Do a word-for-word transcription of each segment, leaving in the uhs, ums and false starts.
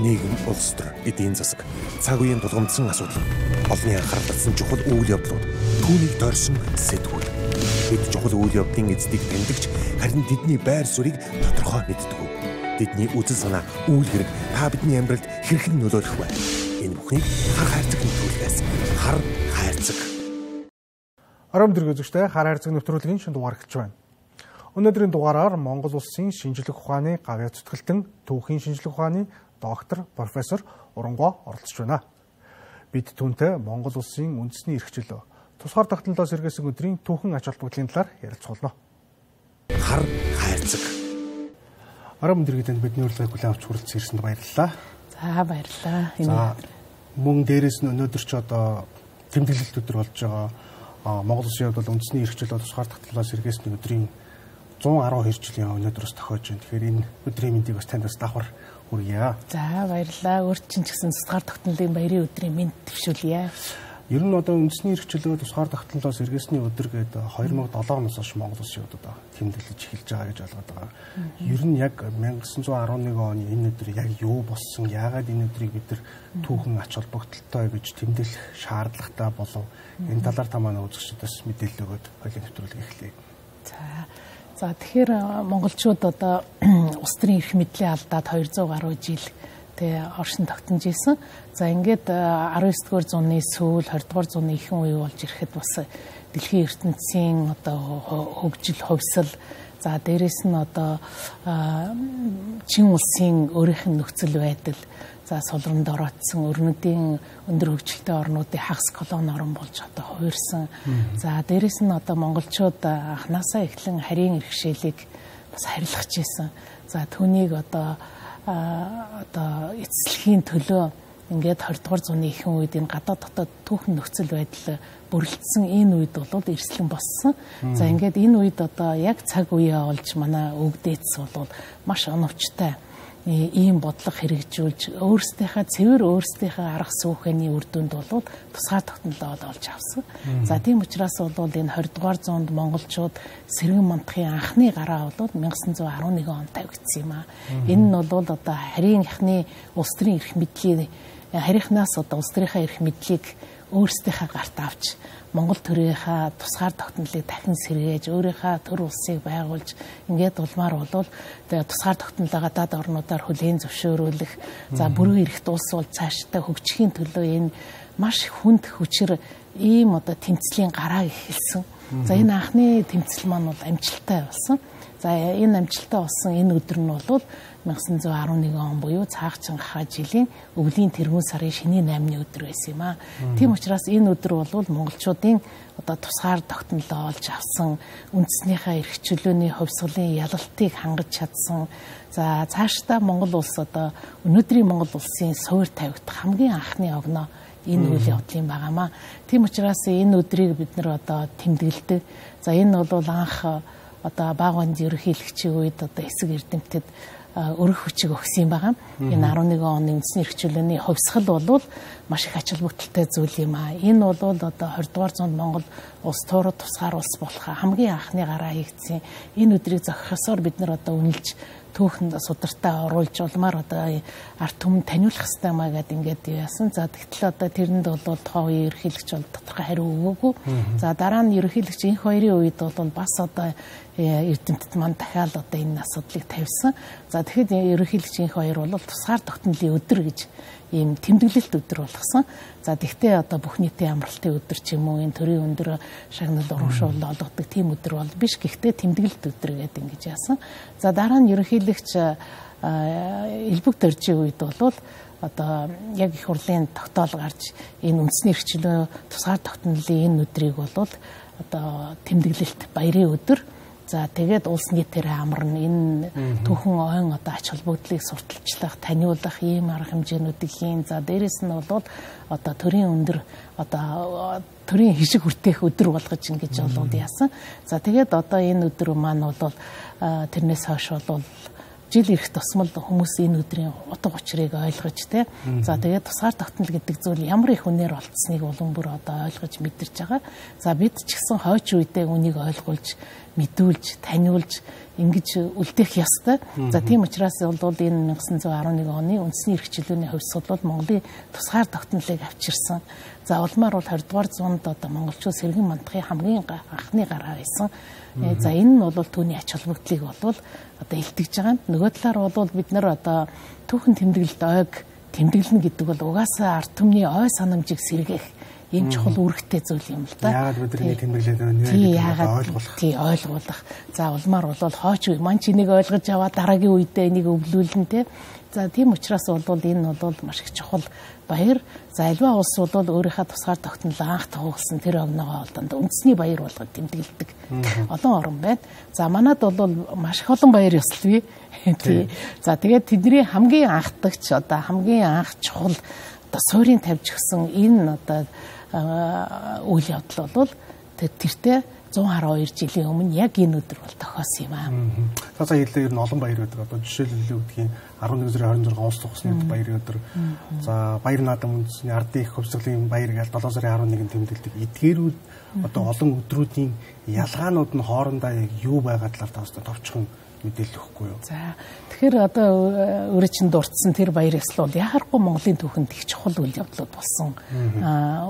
нийгэм, улс төр, эдийн засаг, цаг үеийн тулгамдсан асуудал, олонний анхаарал татсан чухал үйл явдлууд, түүнийг тойрсон сэтгүүл. Бид чухал үйл явдлын эздийг тэмдэгч, харин тэдний байр суурийг тодорхой мэддэг. Тэдний үзэл санаа, үйл хэрэг та бидний амьдралд хэрхэн нөлөөлөх вэ? Энэ бүхнийг хар хайрцаг нэвтрүүлгээс хар хайрцаг. Ором дэрэг үзэгчтэй хар хайрцаг нэвтрүүлгийн шинэ дугаар эхэлж байна. Өнөөдрийн дугаараар Монгол Улсын шинжлэх ухааны гавьяа зүтгэлтэн түүхийн шинжлэх ухааны доктор профессор Урангуй оролцож байна. Бид түүнтэй Монгол Улсын үндэсний эрхчлөө, тусгаар тогтнолоос сэргээсэн өдрийн түүхэн ач холбогдлын талаар ярилцуулна. Хар хайрцаг. Ором дэргэдэнд бидний урилгыг хүлээн авч хүрэлцэн ирсэнд баярлалаа. За баярлалаа. За мөн дээрээс нь өнөөдөр ч одоо тэмдэглэлт өдөр болж байгаа Монгол Улсын хувьд бол үндэсний эрхчлөө, тусгаар тогтнолоос сэргээсний өдрийн зуун арван хоёр жилийн өнөөдрөөс тохиож байна. Тэгэхээр энэ өдрийн мэндийг бас танд бас давхар хүргье. За баярлалаа. Өөр чинь ч гэсэн тусгаар тогтнолын баярын өдрийн мэнд төвшүүлье. Ер нь одоо үндэсний эрхчлөө, тусгаар тогтнолоос сэргээсний өдөр гэдэг хоёр мың долоо оноос хойш Монгол Улсын хувьд одоо тэмдэглэж эхэлж байгаа гэж ойлгоод байгаа. Ер нь яг 천ин девятьсот арван нэг оны энэ өдөр яг юу болсон, яагаад энэ өдрийг бид нар түүхэн ач холбогдолтой гэж тэмдэглэх шаардлагатай болов? Энэ талаар та манай үзэгчдээс мэдээлэл өгөөд хоёулаа нэвтрүүлэг эхлэе. За За тэгэхээр монголчууд одоо улс төрийн эрх мэдлийн алдаад хоёр зуун гаруй жил тэгээ оршин тогтнож ирсэн. За ингээд арван девь дугаар зууны сүүл двадцать дугаар зууны ихэнх үе болж ирэхэд бас дэлхийн ертөнцийн одоо хөгжил, хувьсал, за дээрэс нь одоо чин улсын өөрийнх нь нөхцөл байдал, за солонд ороодсон өрнөдийн өндөр хөгжилтэй орнуудын хагас колони орн болж одоо хувирсан. За дээрэс нь одоо монголчууд анханасаа эхлэн харийн иргэшээлийг бас харилцаж ирсэн. За түүнийг одоо одоо эцэслэхийн төлөө ингээд двадцать дугаар зууны ихэнх үед энэ гадаад дотоод түүхэн нөхцөл байдал бүрэлдсэн энэ үед бол эрсдлэн боссон. За ингээд энэ үед одоо яг цаг үеэ олж манай өвгдээц бол маш оновчтой ийм бодлого хэрэгжүүлж өөрсдийнхээ цэвэр өөрсдийнхээ арга сүүхний үр дүнд бол тусгаар тогтнолоо олж авсан. За тийм учраас бол энэ двадцать дугаар зуунд монголчууд сэргэн мандахын анхны гараа бол 천ин девятьсот арван нэг онд тавигдсан юм аа. Энэ нь бол одоо харийнхны улс төрийн эрх мэдлийн харийнхнаас одоо улс төрийнхээ эрх мэдлийг өөрсдийнхээ гарт авч Монгол төрийнхаа тусгаар тогтнолыг дахин сэргээж өөрийнхөө төр улсыг байгуулж ингээд улмаар болвол тэгээ тусгаар тогтнолоо гадаад орнуудаар хүлээн зөвшөөрүүлэх, за бүрэн эрхт улс бол цаашдаа хөгжихийн төлөө энэ маш хүнд хүчээр ийм одоо тэмцлийн гараа эхэлсэн. За энэ анхны тэмцэл маань бол амжилттай болсон. За энэ амжилттай болсон энэ өдөр нь бол 천ин девятьсот арван нэг он буюу цаах чанга жилийн өвлийн тэргүүн сарын шинийн наймны өдөр байсан юм аа. Тийм учраас энэ өдөр бол монголчуудын одоо тусгаар тогтнолоо олж авсан, үндэснийхээ эрх чөлөөний хувьсгалын ялалтыг хангаж чадсан. За цаашдаа Монгол улс одоо өнөөдрийн Монгол улсын суур тавигдах хамгийн анхны огноо энэ үйл явдлын байгаамаа. Тийм учраас энэ өдрийг бид нар одоо тэмдэглэдэг. За энэ бол анх одоо Баагаанд ерөнхийлөгчийн үед одоо эсэг эрдэмтэд өрөх хүчийг өгсөн юм байгаа. Энэ арван нэг оны үндэсний эрх чөлөөний хувьсгал бол маш их ач холбогдолтой зүйл юм аа. Энэ бол одоо двадцать дугаар зуунд Монгол улс туурууд тусгаар улс болох хамгийн анхны гараа хийгдсэн. Энэ өдрийг зохихосоор бид нар одоо үнэлж түүхэнд судартай оруулж улмаар одоо ард түмэнд таниулах хэрэгтэй маа гэдэг ингээд яасан. За тэгтэл одоо тэрэнд бол тухайн үеийн ерөнхийлөгч бол тодорхой хариу өгөөгүй. За дараа нь ерөнхийлөгч энэ хоёрын үед бол бас одоо эрдэмтэд маань дахиад одоо энэ асуудлыг тавьсан. За тэгэхэд ерөнхийлөгч энэ хоёр бол тусгаар тогтнолын өдөр гэж ийм тэмдэглэлт өдөр болгосон. За тэгтээ одоо бүх нийтийн амралтын өдөр ч юм уу энэ төрийн өндөр шагнал урамшуул олгодог тийм өдөр бол биш. Гэхдээ тэмдэглэлт өдөр гэдэг ингэж яасан. За дараа нь ерөнхийлөгч элбэг дөржийн үед бол одоо яг их хурлын тогтоол гарч энэ үндэсний эрхчлөө тусгаар тогтнолын энэ өдрийг бол одоо тэмдэглэлт баярын өдөр. За тэгээд улс нийтээр амарна энэ түүхэн ойн одоо ач холбогдлыг сурталчлах, таниулах ийм арга хэмжээнүүдийг хийн. За дээрэс нь бол одоо төрийн өндөр одоо төрийн хишиг хүртээх өдөр болгож ингэж болоод яасан. За тэгээд одоо энэ өдөр маань бол тэрнээс хойш бол жил ирэх тусмал хүмүүс энэ өдрийн утга учирыг ойлгож тэ. За тэгээд тусгаар тогтнол гэдэг зүйл ямар их үнээр олдсныг улам бүр одоо ойлгож мэдэрч байгаа. За бид ч гэсэн хойч үедээ үнийг ойлгуулж, мэдүүлж, таниулж ингэж үлдээх ёстой. За тийм учраас бол энэ найман дөрвөн дөрвөн нэг оны үндэсний эрх чөлөөний хувьсгал бол Монголын тусгаар тогтнолыг авчирсан. За улмаар бол двадцать дугаар зуунд одоо монголчууд сэргэн мандахын хамгийн анхны гараа байсан. За энэ нь бол түүний ач холбогдлыг бол одоо илтгэж байгаа. Нөгөө талаар бол бид нар одоо түүхэн тэмдэглэлд ойг тэмдэглэнэ гэдэг бол угаасаа ард түмний ой санамжийг сэргээх ийм чухал үүрэгтэй зүйл юм л да. Яагаад бидний тэмдэглээд байгаа нь ойлгох. Тий, ойлгуулах. За улмаар бол хооч маань ч энийг ойлгож аваад дараагийн үедээ энийг өвлүүлнэ те. За тийм учраас бол энэ бол маш их чухал баяр. За альва улс бол өөрийнхөө тусгаар тогтнол анх тогтсон тэр огноогоо олдонд үндэсний баяр болгоод тэмдэглэдэг. Олон орн байна. За манад бол маш их олон баяр ёслолгүй. Тий. За тэгээд тэдний хамгийн анхдагч одоо хамгийн анх чухал одоо суурийн тавьж гисэн энэ одоо үйл явдал бол тэртээ зуун хараа хоёр жилийн өмнө яг энэ өдөр бол тохиосон юм аа. За за хэлээ ер нь олон баяр өдөр одоо жишээлбэл үгдгийн арван нэг сарын хорин зургаан улс тухсны баяр өдөр. За баяр наадам үндэсний ардын их хувьсгалын баяр гээл долоо сарын арван нэгнд тэмдэглэдэг. Эдгээрүүд одоо олон өдрүүдийн ялгаанууд нь хоорондоо яг юу байгаа талаар таастай товчхон мэдээлэл өгөхгүй юу. За тэгэхээр одоо өөрөө чинь дурдсан тэр баяр ёслол яхахгүй Монголын түүхэнд их чухал үйл явдлууд болсон. Аа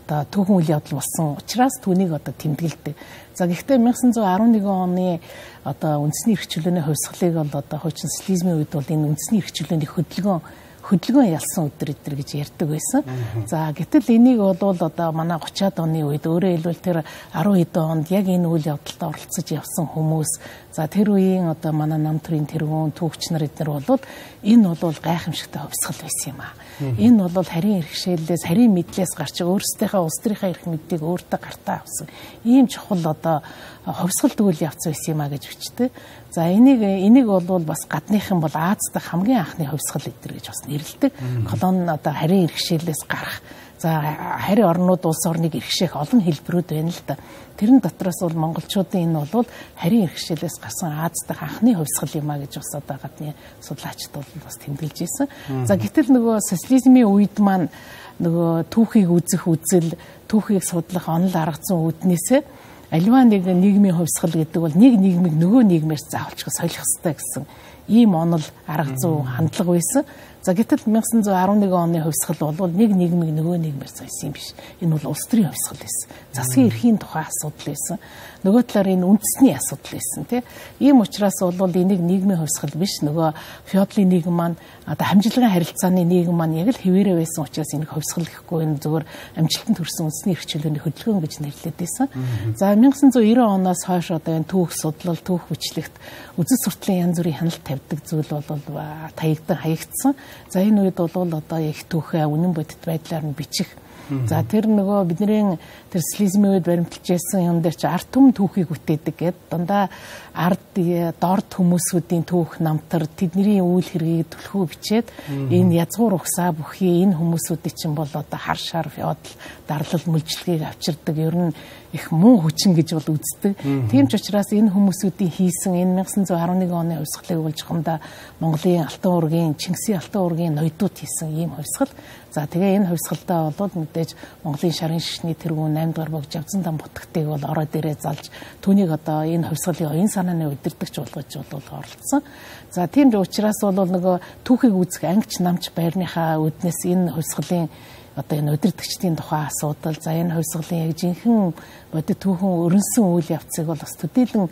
одоо түүхэн үйл явдал болсон учраас түүнийг одоо тэмдэглэдэг. За гэхдээ найман дөрвөн нэг оны одоо үндэсний эрх чөлөөний хувьсгалыг бол одоо хуучин социализмын үед бол энэ үндэсний эрх чөлөөний хөдөлгөөн хөдөлгөөн ялсан өдөр өдөр гэж ярьдаг байсан. За гэтэл энийг бол одоо манай гучаад оны үед өөрөө хэлбэл тэр арван хэдэн онд яг энэ үйл явдалд оролцож явсан хүмүүс. За тэр үеийн одоо манай нам төрийн тэргүүн түүхч нар эднэр бол энэ бол гайхамшигтай хувьсгал байсан юм аа. Энэ бол харийн иргэшээлээс харийн мэдлээс гарч өөрсдийнхөө улс төрийнхөө эрх мэдийг өөртөө гартаа авсан. Ийм чухал одоо хувьсгал үйл явц байсан юм аа гэж бичдэг. За энийг энийг бол бас гадныхан бол Аз дахь хамгийн анхны хувьсгал эдэр гэж бас нэрлэдэг. Колон одоо харийн иргэшээлээс гарах. За харийн орнууд улс орныг иргэшээх олон хэлбэрүүд байна л да. Тэрэн дотроос бол монголчуудын энэ бол харийн иргэшээлээс гарсан Аз дахь анхны хувьсгал юм а гэж бас одоо гадны судлаачид бол бас тэмдэглэж ирсэн. За гэтэл нөгөө социализмын үед маань нөгөө түүхийг үзэх үзэл, түүхийг судлах онол арга зүйн үүднээсээ аливаа нэг нийгмийн хувьсгал гэдэг бол нэг нийгмийг нөгөө нийгмээс заавалчгүй солих хэрэгтэй гэсэн ийм онол арга зүй хандлага байсан. За гэтэл найман дөрвөн нэг оны хувьсгал бол нэг нийгмийг нөгөө нийгмээр сольсон юм биш. Энэ бол улс төрийн хувьсгал байсан. Засгийн эрхийн тухай асуудал байсан. Нөгөө талаар энэ үндэсний асуудал байсан тий. Ийм учраас бол энийг нийгмийн хувьсгал биш нөгөө феодалын нийгэм маань одоо хамжилгын харилцааны нийгэм маань яг л хэвээрээ байсан учраас энийг хувьсгал гэхгүй энэ зөвхөн амжилтанд хүрсэн үндэсний эрх чөлөөний хөдөлгөөн гэж нэрлэдэг байсан. За найман девяносто оноос хойш одоо энэ түүх судлал, түүх хүчлэгт үзэл сурталын янз бүрийн хяналт тавьдаг зүйл бол таягдан хаягдсан. За энэ үед бол одоо их түүхээ үнэн бодит байдлаар нь бичих. За тэр нөгөө бидний тэр социализмын үед баримталж байсан юм дээр чи ард түмэн түүхийг бүтээдэг гэд дандаа ард дорд хүмүүсүүдийн түүх намтар тэдний үйл хэргийг түлхүү бичээд энэ язгуур угсаа бүхий энэ хүмүүсүүдийн чинь бол одоо хар шар феодал дарлал мүлжлэгийг авчирдаг ер нь их муу хүчин гэж бол үздэг. Тийм ч учраас энэ хүмүүсүүдийн хийсэн энэ найман дөрвөн нэг оны хувьсгалыг бол жохомдоо Монголын Алтан уургийн Чингисийн Алтан уургийн ноёдууд хийсэн ийм хувьсгал. За тэгээ энэ хувьсгалдаа бол мэдээж Монголын шарын шишний тэргүүн найман дугаар богж авцсан дан бутгтыг бол ороо дээрээ залж түүнийг одоо энэ хувьсгалын оюун санааны удирдагч болгож бол оролцсон. За тийм ч учраас бол нөгөө түүхийг үзэх ангич намч байрныхаа үднэс энэ хувьсгалын одоо энэ удирдагчдын тухай асуудал, за энэ хувьсгалын яг жинхэнэ бодит түүхэн өрнсөн үйл явцыг бол бас төдийлөн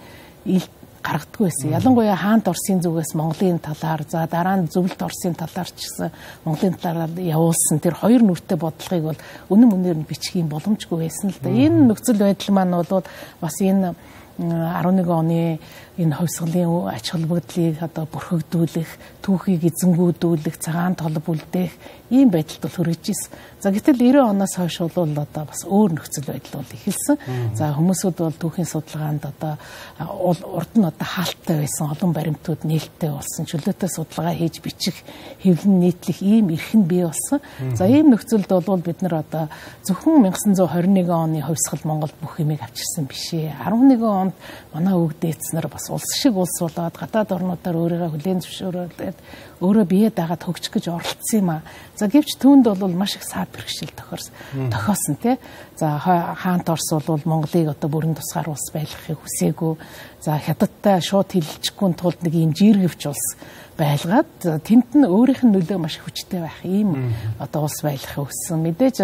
гаргадаг байсан. Ялангуяа хаант Оросын зүгээс Монголын талаар, за дараа нь зөвлөлт Оросын талаар ч гэсэн Монголын талаар явуулсан тэр хоёр нүртэй бодлогыг бол үнэн үнээр нь бичих юм боломжгүй байсан л да. Энэ нөхцөл байдал маань бол бас энэ арван нэг оны энэ хувьсгалын ач холбогдлыг одоо бүрхэгдүүлэх, түүхийг эзэнгүүдүүлэх, цагаан толб үлдээх ийм байдалд бол хүрэж ирсэн. За гэтэл девяносто оноос хойш бол одоо бас өөр нөхцөл байдал бол эхэлсэн. За хүмүүсүүд бол түүхийн судалгаанд одоо урд нь одоо хаалттай байсан олон баримтууд нээлттэй болсон, чөлөөтэй судалгаа хийж бичих, хэвлэн нийтлэх ийм эрхэм бий болсон. За ийм нөхцөлд бол бид нар одоо зөвхөн найман дөрвөн нэг оны хувьсгал Монголд бүх юмыг авчирсан биш ээ. арван нэгэн онд онд манай өвөг дээдснэр бас улс шиг улс болоод гадаад орнуудаар өөрийгөө хүлээн зөвшөөрөөд өөрөө бие дагаад хөгжих гэж оролцсон юм аа. За гэвч түүнд бол маш их саад бэрхшээл тохиорсон. Тохиосон тий. За хаант Орос бол Монголыг одоо бүрэн тусгаар улс байлгахыг хүсээгүй. За хятадтай шууд хилэлцэхгүй тулд нэг юм жиргэвч улс байлгаад тэнд нь өөрийнх нь нөлөө маш хүчтэй байх ийм одоо улс байлгахыг хүссэн. Мэдээж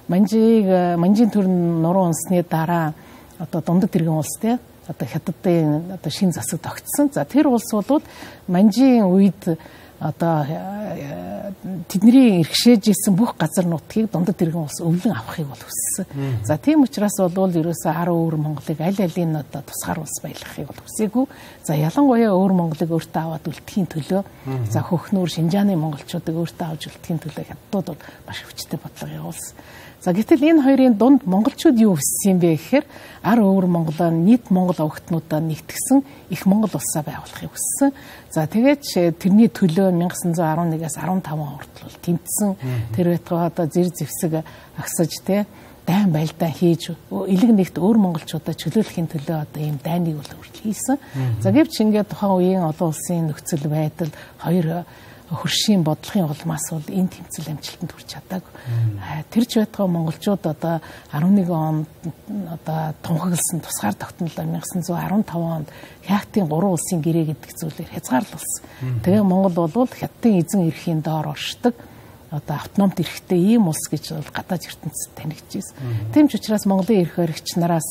Манжийг Манжийн төр нуруу унсны дараа одоо дундад тэрэгэн улс тий одоо хятадын одоо шин засаг тогтсон. За тэр улс бол Манжийн үед одоо тэдний иргэшээж исэн бүх газар нутгийг дундад тэрэгэн улс өвлөн авахыг бол хүссэн. За тийм учраас бол ерөөсөө ар өөр Монголыг аль алийн одоо тусгаар улс байлгахыг бол хүсээгүй. За ялангуяа өөр Монголыг өөртөө аваад үлдэхийн төлөө за хөхнөр Шинжааны монголчуудыг өөртөө авч үлдэхийн төлөө хятадууд бол маш хүчтэй бодлого явуулсан. За гэтэл энэ хоёрын дунд монголчууд юу хүссэн юм бэ гэхээр ар өөр Монголоо нийт монгол овогтнуудаа нэгтгсэн их монгол улсаа байгуулахыг хүссэн. За тэгээд тэрний төлөө мянга санаа зам арван нэгээс арван таван хүртэл тэмцсэн. Тэр байтугай одоо зэр зэвсэг агсаж те дайн байлдаа хийж элэг нэгт өөр монголчуудаа чөлөөлөхийн төлөө одоо ийм дайныг бол хүртэл хийсэн. За гэвч ингээд тухайн үеийн олон улсын нөхцөл байдал хоёр хөршийн бодлогын улмаас бол энэ тэмцэл амжилтанд хүрч чадаагүй. Тэр ч байтугай монголчууд одоо арван нэгэн онд одоо тунхагласан тусгаар тогтнолоо мянга санаа зам арван таван онд Хятадын гурван улсын гэрээ гэдэг зүйлээр хязгаарлалсан. Тэгээ Монгол бол Хятадын эзэн эрхийн доор оршдог одоо автономт эрхтэй ийм улс гэж бол гадаад ертөнцид танигдчихсэн. Тийм ч учраас Монголын эрх баригч нараас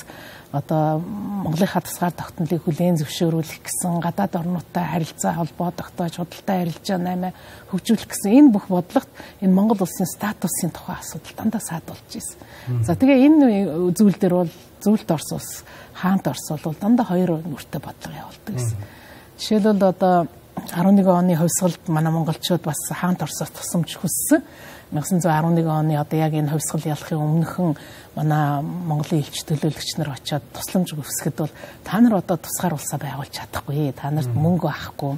одоо Монголынхаа тусгаар тогтнолыг хүлээн зөвшөөрүүлэх гэсэн гадаад орнуудтай харилцаа холбоо тогтоож худалдаа арилжаа наймаа хөгжүүлэх гэсэн энэ бүх бодлогот энэ Монгол улсын статусын тухай асуудал дандаа саад болж ирсэн. За тэгээ энэ зүйл дээр бол Зөвлөлт Орос улс, хаант Орос бол дандаа хоёр нүртэй бодлого явуулдаг гэсэн. Жишээлбэл одоо арван нэгэн оны хувьсгалд манай монголчууд бас хаант Оросоос тусламж хүссэн. мянга санаа зам арван нэгэн оны одоо яг энэ хувьсгал ялахын өмнөхөн манай Монголын элч төлөөлөгч нар очиод тусламж өгсөхэд бол та нар одоо тусгаар улсаа байгуулж чадахгүй. Та нарт мөнгө байхгүй,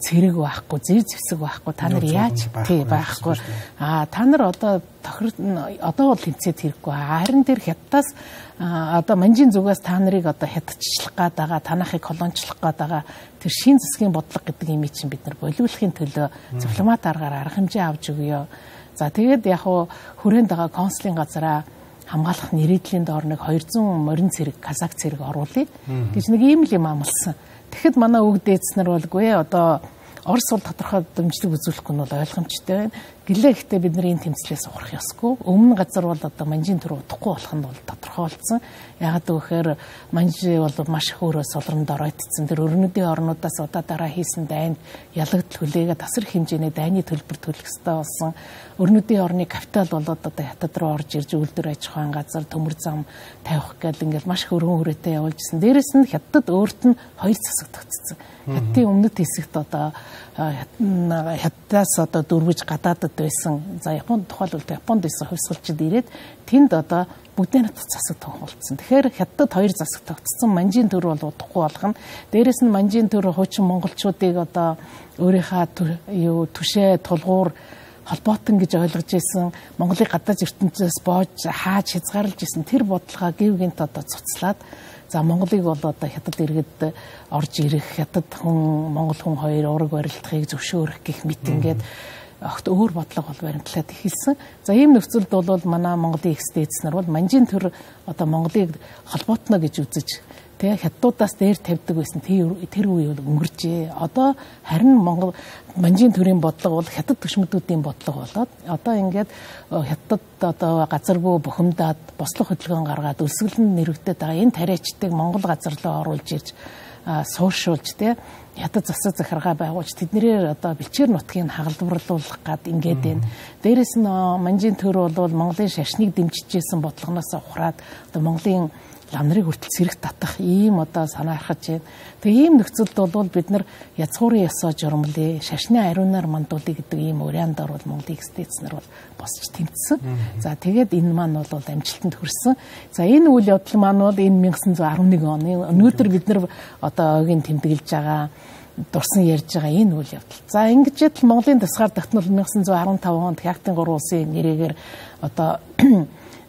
цэрэг байхгүй, зэр зэвсэг байхгүй. Та нар яаж тий байхгүй. Аа та нар одоо тохир одоо бол тэмцээд хэрэггүй. Харин тэр Хятадаас одоо Манжийн зүгээс та нарыг одоо хятадчлах гээд байгаа, танахыг колончлох гээд байгаа тэр шин засгийн бодлого гэдэг юм чинь бид нар болиулахын төлөө дипломат аргаар арга хэмжээ авч өгөө. За тэгээд яг хуу хүрээнд байгаа консулын газараа хамгаалах нэрийдлийн доор нэг хоёрзуун морин цэрэг, казак цэрэг оруулъя гэж нэг ийм л юм амлсан. Тэгэхэд манай өвөг дээдснэр болгүй одоо Орос бол тодорхой дэмжлэг үзүүлэхгүй нь бол ойлгомжтой байна. Гэлээ гэхдээ бид нар энэ тэмцлээс ухрах ёсгүй. Өмнө газар бол одоо Манжийн төр удахгүй болох нь бол тодорхой болсон. Яагаад гэвэл Манжи бол маш их өөрөө солронд оройтцсан. Тэр өрнөдийн орнуудаас удаа дараа хийсэн дайнд ялагдл хүлээгээд тасар хэмжээний дайны төлбөр төлөх ёстой болсон. Өрнөдийн орны капитал болоод одоо Хятад руу орж ирж үйлдвэр аж ахуйн газар, төмөр зам тавих гэдэг ингээд маш их өргөн хүрээтэй явуулжсэн. Дээрэс нь Хятад өөрт нь хоёр засаг тогтцсон. Хятадын өмнөд хэсэгт одоо Хятадаас одоо дөрвөж гадаадд байсан. За Японд тухайлбал Японд байсан хувьсгалчид ирээд тэнд одоо бүгдээ нутаг засаг тогтолцсон. Тэгэхээр Хятадд хоёр засаг тогтцсон. Манжийн төр бол удахгүй болох нь. Дээрэс нь Манжийн төр хуучин монголчуудыг одоо өөрийнхөө юу түшээ тулгуур холбоотон гэж ойлгож ирсэн. Монголыг гадаад ертөнцөөс боож хааж хязгаарлаж ирсэн тэр бодлогоо гів гинт одоо цуцлаад за Монголыг бол одоо Хятад иргэд орж ирэх, Хятад хүн, Монгол хүн хоёр ураг барилдахыг зөвшөөрөх гэх мэт ингээд огт өөр бодлого бол баримтлаад эхэлсэн. За ийм нөхцөлд бол манай Монголын экс-дээдс нар бол Манжийн төр одоо Монголыг холбоотно гэж үзэж тэгээ Хятадуудаас дээр тавьдаг байсан тэр үе өнгөрчээ. Одоо харин Монгол Манжийн төрийн бодлого бол Хятад төшмөдүүдийн бодлого болоод одоо ингээд Хятад одоо газаргүй бухимдаад бослого хөдөлгөөн гаргаад өлсгөлн нэрвэгдээд байгаа энэ тариачдыг Монгол газар руу оруулж ирж суушуулж тэ Хятад засаг захиргаа байгуулж тэднэрээр одоо бэлчээр нутгийг хагалбарлуулах гад ингээд байна. Дээрээс нь Манжийн төр бол Монголын шашныг дэмжижсэн бодлогоноос ухраад одоо Монголын лам нарыг хүртэл сэрэг татах ийм одоо санаа архаж байна. Тэгээ ийм нөхцөлд бол бид нар язгуурын ёсоо журмлээ, шашны ариунаар мандуулъя гэдэг ийм уриандаар бол Монголын экс-дээдс нар бол босч тэмцсэн. За тэгээд энэ маань бол амжилтанд хүрсэн. За энэ үйл явдал маань бол энэ мянга санаа зам арван нэгэн оны өнөөдөр бид нар одоо ойгийн тэмдэглэж байгаа дурсан ярьж байгаа энэ үйл явдал. За ингэж л Монголын тусгаар тогтнол мянга санаа зам арван таван онд Хятадын гурван улсын нэрээр одоо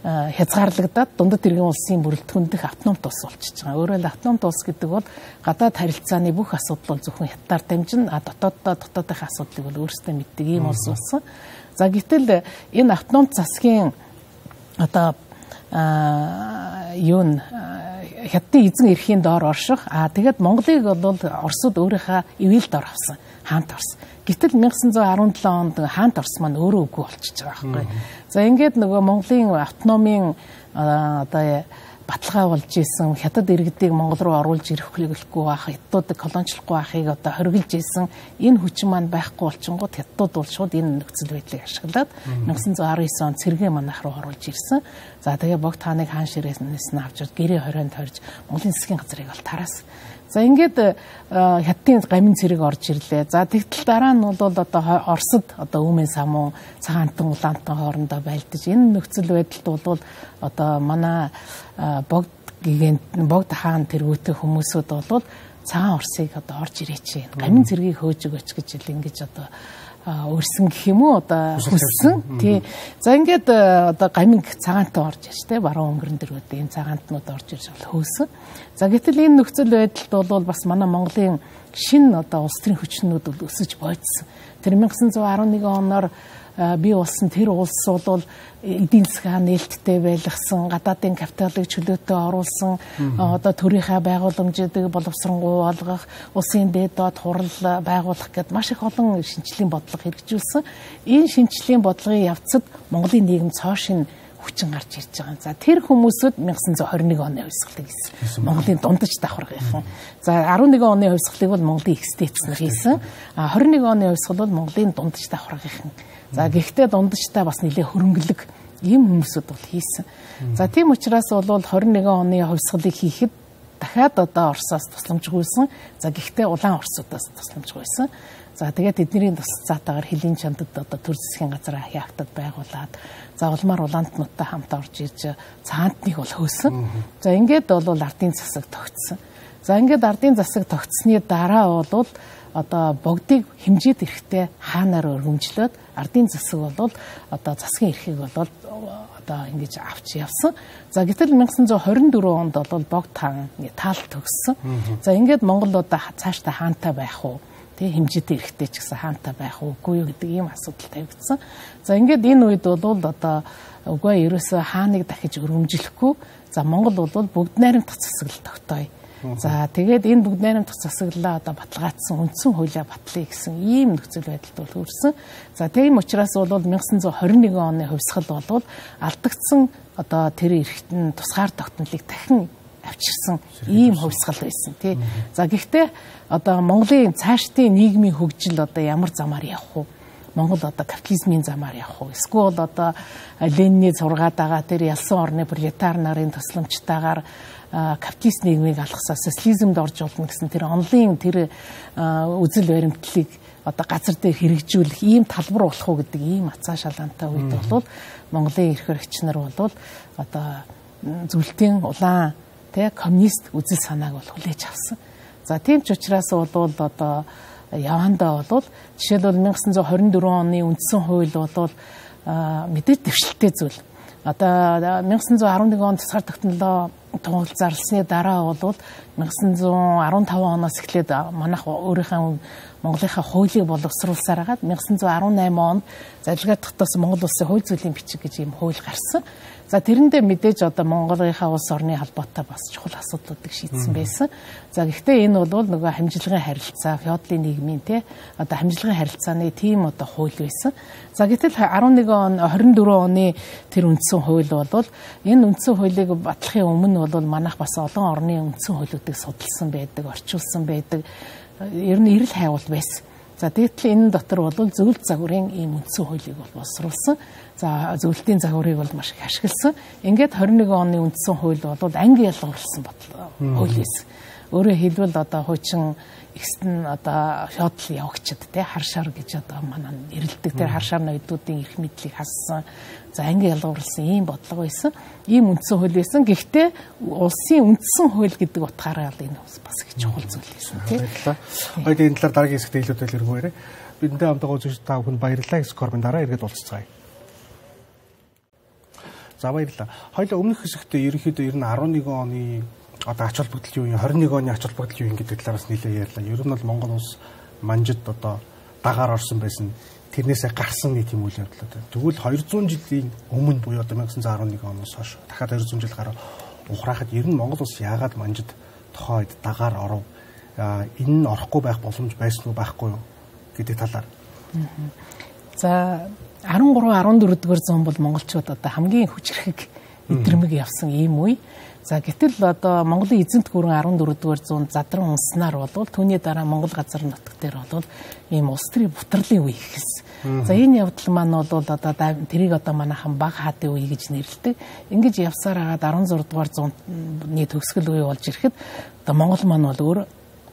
хязгаарлагдаад дундад иргэн улсын бүрэлдэхүүн дэх автономт улс болчихж байгаа. Өөрөөр хэлбэл автономт улс гэдэг бол гадаад харилцааны бүх асуудал бол зөвхөн хятадаар дамжин, а дотооддоо дотоодынхаа асуудлыг бол өөрсдөө мэддэг ийм улс болсон. За гэтэл энэ автономт засгийн одоо юу н хятадын эзэн эрхийн доор орших, а тэгээд Монголыг бол Оросууд өөрийнхөө ивэлд ор авсан, хаант орсон. Гэтэл найман арван долоо онд хаант Орос маань өөрөө үгүй болчихж байгаа байхгүй. За ингээд нөгөө Монголын автономийн одоо баталгаа болж исэн, хятад иргэдийг Монгол руу оруулж ирэх хөлөглөхгүй байх, хятадуудыг колоничлохгүй байхыг одоо хориглож исэн энэ хүчин маань байхгүй болчингууд хятадууд бол шууд энэ нөхцөл байдлыг ашиглаад найман арван девять онд цэргийн манайх руу оруулж ирсэн. За тэгээ богд хааныг хаан ширээс нь авчирд гэрээ хорионд хорж Монголын засгийн газрыг бол тараас. За ингээд хятадын гамин цэрэг орж ирлээ. За тэгтэл дараа нь бол одоо Оросд одоо Өмнө самуу цагаантан улаантан хоорондоо байлдаж энэ нөхцөл байдалд бол одоо манай богд гигэнт богд хаан тэргүүтэй хүмүүсүүд бол цагаан Оросыг одоо орж ирээч. Гамин цэргийг хөөж өгөөч гэж ил ингэж одоо өрсөн гэх юм уу одоо хүссэн. Тий. За ингээд одоо гаминг цагаантан орж иж тэ баруун өнгөрөн дэргүүд энэ цагаантнууд орж ирж бол хөөсөн. За гэтэл энэ нөхцөл байдалд бол бас манай Монголын шинэ одоо улс төрийн хүчнүүд бол өсөж бойдсон. Тэр найман арван нэгэн оноор бий болсон тэр улс бол эдийн засгийн нээлттэй байлгасан, гадаадын капиталыг чөлөөтэй оруулсан, одоо төрийнхээ байгууламжуудыг боловсронгуй болгох, улсын дээд доод хурал байгуулах гэд маш их олон шинжлэлийн бодлого хэрэгжүүлсэн. Энэ шинжлэлийн бодлогын явцад Монголын нийгэм цоошин хүчин гарч ирж байгаа. За тэр хүмүүсүүд найман арван нэгэн оны хувьсгалыг хийсэн. Монголын дундаж давхаргийнхан. За арван нэгэн оны хувьсгалыг бол Монголын экстетснэр хийсэн. А арван нэгэн оны хувьсгал бол Монголын дундаж давхаргийнхан. За гэхдээ дундажтай бас нэлээ хөрөнгөлөг ийм хүмүүсүүд бол хийсэн. За тийм учраас бол арван нэгэн оны хувьсгалыг хийхэд дахиад одоо Оросоос тусламжгүйсэн. За гэхдээ улаан Оросуудаас тусламжгүйсэн. За тэгээд эднэрийн тусалцаатаагаар хөлийн чандад одоо төр засгийн газар хяактад байгуулад за улмаар улаантнуудтай хамт орж ирж цаантныг бол хөөсөн. За ингээд бол ардын засаг тогтсон. За ингээд ардын засаг тогтсны дараа бол одоо богдыг хэмжээд ирэхдээ хаанаар өргөмжлөөд ардын засаг бол одоо засгийн эрхийг бол одоо ингэж авч явсан. За гэтэл найман арван дөрвөн онд бол богд хаан таал төгссөн. За ингээд Монгол одоо цаашдаа хаантай байх уу? Тэ хэмжээтэй эрэхтэй ч гэсэн хаантай байх үгүй юу гэдэг ийм асуудал тавигдсан. За ингээд энэ үед бол одоо үгүй ерөөсөө хааныг дахиж өргөмжлөхгүй. За Монгол бол бүгд найрамдах засаглал тогтооё. За тэгээд энэ бүгд найрамдах засаглалаа одоо баталгаажсан үндсэн хуулиа батлая гэсэн ийм нөхцөл байдалд бол хүрсэн. За тийм учраас бол найман арван нэгэн оны хувьсгал бол алдагдсан одоо тэр эрхтэн тусгаар тогтнолыг дахин авчирсан ийм хувьсгал байсан тий. За гэхдээ одоо Монголын цаашдын нийгмийн хөгжил одоо ямар замаар явах вэ? Монгол одоо капитализмын замаар явах уу? Эсвэл одоо Ленины зургаад байгаа тэр ялсан орны пролетар нарын тусламжтайгаар капиталист нийгмийг алгасаа социализмд орж болно гэсэн тэр онлын тэр үзэл баримтлалыг одоо газар дээр хэрэгжүүлэх ийм талбар болох уу гэдэг ийм ацаа шалгаантай үед бол Монголын эрх хэрэгч нар бол одоо зөвлөлтийн улаан тэ коммунист үзэл санааг бол хүлээж авсан. За тийм ч учраас бол одоо явандаа бол жишээлбэл найман арван дөрвөн оны үндсэн хууль бол мэдээж дэвшилттэй зүйл. Одоо найман арван нэгэн онд тусгаар тогтнолоо тунгалж зарлсны дараа бол найман арван таван оноос эхлээд манайх өөрийнхөө Монголынхаа хуулийг боловсруулсаар хагаад найман арван намын онд залгаа тогтоосон Монгол улсын хууль зүйн бичиг гэж ийм хууль гарсан. За тэрэндээ мэдээж одоо Монголынхаа улс орны холбоотой бас чухал асуудлуудыг шийдсэн байсан. За гэхдээ энэ бол нөгөө хамжилгын харилцаа, феодалын нийгмийн те одоо хамжилгын харилцааны тийм одоо хууль байсан. За гэтэл арван нэгэн он арван дөрвөн оны тэр үндсэн хууль бол энэ үндсэн хуулийг батлахын өмнө бол манайх бас олон орны үндсэн хуулиудыг судалсан байдаг, орчуулсан байдаг. Ер нь эрэл хайвал байсан. За тэгтэл энэ дотор бол зөвлөлт загварын ийм үндсэн хуулийг бол боловсруулсан. За зөвлөлтийн загварыг бол маш их ашигласан. Ингээд арван нэгэн оны үндсэн хууль бол анги ялгарлсан хууль байсан. Өөрөөр хэлбэл одоо хуучин ихсэн одоо феодал явагчд те харшаар гэж одоо манай нэрлэдэг тэр харшаар ноёдуудын эрх мэдлийг хассан. За анги ялгарлсан ийм бодлого байсан. Ийм үндсэн хууль байсан. Гэхдээ улсын үндсэн хууль гэдэг утгаараа энэ бас их чухал зүйл байсан тийм. Баярлалаа. Энэ талаар дараагийн хэсэгт илүүдээл өргөөрэй. Бидэнтэй хамтдаа үзэж та бүхэн баярлалаа. Скорбын дараа эргээд уулзцгаая. За баярлалаа. Хоёулаа өмнөх хэсэгт ерөнхийдөө ер нь арван нэгэн оны одоо ач холбогдол юу юм, хорин нэг оны ач холбогдол юу юм гэдэг талаараас нэлээд ярьлаа. Ер нь бол Монгол улс манжид одоо дагаар орсон байсан. Тэрнээсээ гарсан нэг тийм үйл явдал одоо. Тэгвэл хоёр зуун жилийн өмнө буюу одоо найман арван нэг оноос хойш дахиад хоёр зуун жил гараа ухраахад ер нь Монгол улс яагаад манжид тохойд дагаар оров? Энэ нь орохгүй байх боломж байсан уу байхгүй юу гэдэг талаар. За арван гурав арван дөрөв дугаар зуун бол монголчууд одоо хамгийн хүчрхэг эдрэмэг явсан ийм үе. За гэтэл одоо Монголын эзэнт гүрэн арван дөрөв дугаар зуунд задран унснаар бол түүний дараа Монгол газар нутаг дээр бол ийм улс төрийн бутарлын үе ихсэн. За энэ явдал маань бол одоо тэрийг одоо манайхан баг хаадын үе гэж нэрлэдэг. Ингэж явсаар хагаад арван зураг дугаар зууны төгсгөл үе болж ирэхэд одоо Монгол маань бол өөр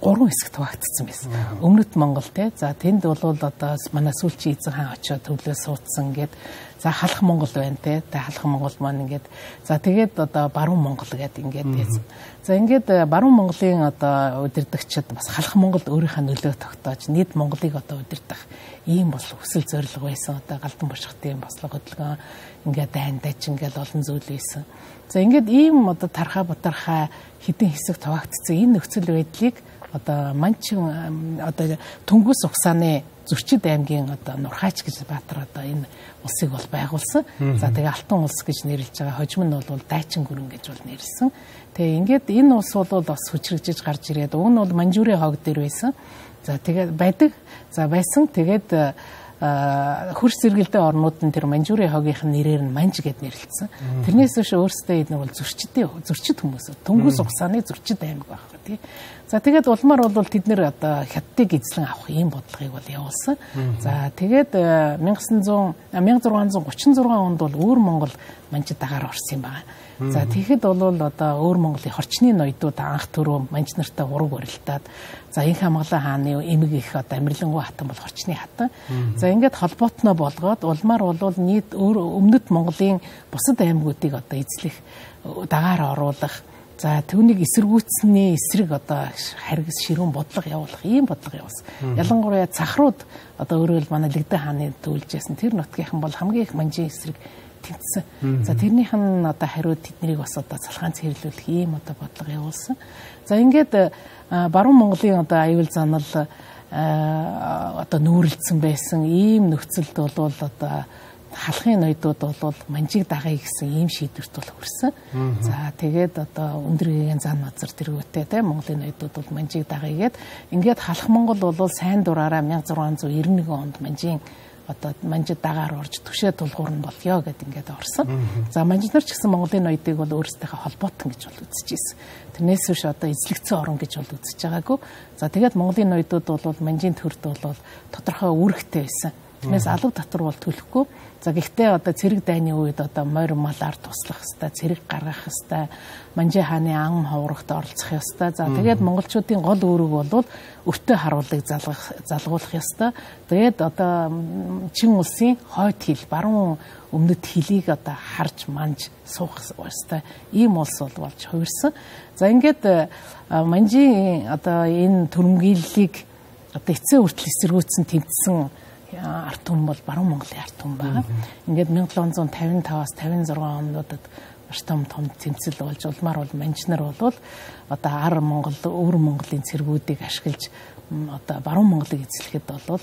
гурван хэсэгт хуваагдсан байсан. Өмнөд Монгол те. За тэнд бол одоо манай сүүлчийн эзэн хаан очиод төвлөө суудсан гэд. За халах Монгол байна те. Тэ халах Монгол маань ингээд. За тэгээд одоо баруун Монгол гэдэг ингээд байсан. За ингээд баруун Монголын одоо удирдагчид бас халах Монгол өөрийнхөө нөлөө тогтоож нийт Монголыг одоо удирдах ийм бол хүсэл зорилго байсан. Одоо галдан бушхтын бослого хөдөлгөөн ингээд дайндаж ингээд олон зүйл байсан. За ингээд ийм одоо тархаа бутархаа хэдэн хэсэг хуваагдсан энэ нөхцөл байдлыг одоо манчин одоо Түнгус Угсааны Зөрчид аймгийн одоо Нурхаач гэж Баатар одоо энэ улсыг бол байгуулсан. За тэгээ Алтан улс гэж нэрлэж байгаа. Хожим нь бол Дайчин гүрэн гэж бол нэрлсэн. Тэгээ ингээд энэ улс бол бас хүчрэгжиж гарч ирээд уг нь бол Манжурийн хог дээр байсан. За тэгээд байдаг. За байсан. Тэгээд хөрс зэрэгэлдээ орнууд нь тэр Манжурийн хогийнх нь нэрээр нь Манж гэд нэрлэлсэн. Тэрнээс биш өөрсдөө энэ бол зөрчидтэй зөрчид хүмүүс. Түнгус Угсааны Зөрчид аймаг байхгүй тий. За тэгээд улмаар бол тэд нэр одоо хятадыг эзлэн авах ийм бодлогыг бол явуулсан. За тэгээд 천육백 гуравчун зургаан онд бол өөр Монгол манжид дагаар орсон юм байна. За тэгэхэд бол одоо өөр Монголын хорчны ноёдууд анх түрүү манж нартай ураг барилтаад за Инх Хамгалан хааны эмэг их одоо Амирлангуй хатан бол хорчны хатан. За ингээд холбоотноо болгоод улмаар бол нийт өмнөд Монголын бусад аймагуудыг одоо эзлэх дагаар оруулах. За түүнийг эсэргүүцсэний эсрэг одоо харгас ширүүн бодлого явуулах ийм бодлого явуулсан. Ялангуяа Цахрууд одоо өөрөө л манай Лэгдэн хааны төлжсэн тэр нутгийнхан бол хамгийн их манжийн эсрэг тэмцсэн. За тэрнийх нь одоо хариуд тэднийг бас одоо цалгаан цэвэрлүүлэх ийм одоо бодлого явуулсан. За ингээд баруун Монголын одоо аюул занал одоо нүүрэлцсэн байсан ийм нөхцөлд бол одоо халахын ноёдууд бол манжиг дагая гэсэн ийм шийдвэрт бол хүрсэн. За тэгээд одоо өндөр гэгээн зан мазар тэргүүтээ тийм Монголын ноёдууд бол манжиг дагая гэд ингээд халах Монгол бол сайн дураараа 천육백 девяносто нэг онд манжийн одоо манжид дагаар орж түшээ тулгуур нь болёо гэд ингээд орсон. За манжид нар ч гэсэн Монголын ноёдыг бол өөрсдийнхээ холбоотон гэж бол үзэж ирсэн. Тэрнээс биш одоо эзлэгцэн орон гэж бол үзэж байгаагүй. За тэгээд Монголын ноёдууд бол манжийн төрд бол тодорхой үүрэгтэй байсан. Тэрнээс алга татвар бол төлөхгүй. За гэхдээ одоо цэрэг дайны үед одоо морь малаар туслах хэвээр цэрэг гаргах хэвээр Манжи хааны ан ховрогт оролцох хэвээр. За тэгээд монголчуудын гол үүрэг бол өртөө харуулыг залгах залгуулах хэвээр. Тэгээд одоо чин улсын хойд хил баруун өмнөд хилийг одоо харж манж суух хэвээр ийм улс бол болж хувирсан. За ингээд Манжийн одоо энэ төрөмгийллийг одоо эцсийн хүртэл эсэргүүцсэн тэмцсэн арт түмэн бол баруун Монголын арт түмэн байгаа. Ингээд 천칠백 пятьдесят пять-аас пятьдесят шесть онуудад маш том том тэмцэл болж улмаар бол манжнар бол одоо ар Монгол, өвөр Монголын цэргүүдийг ашиглаж одоо баруун Монголыг эзлэхэд бол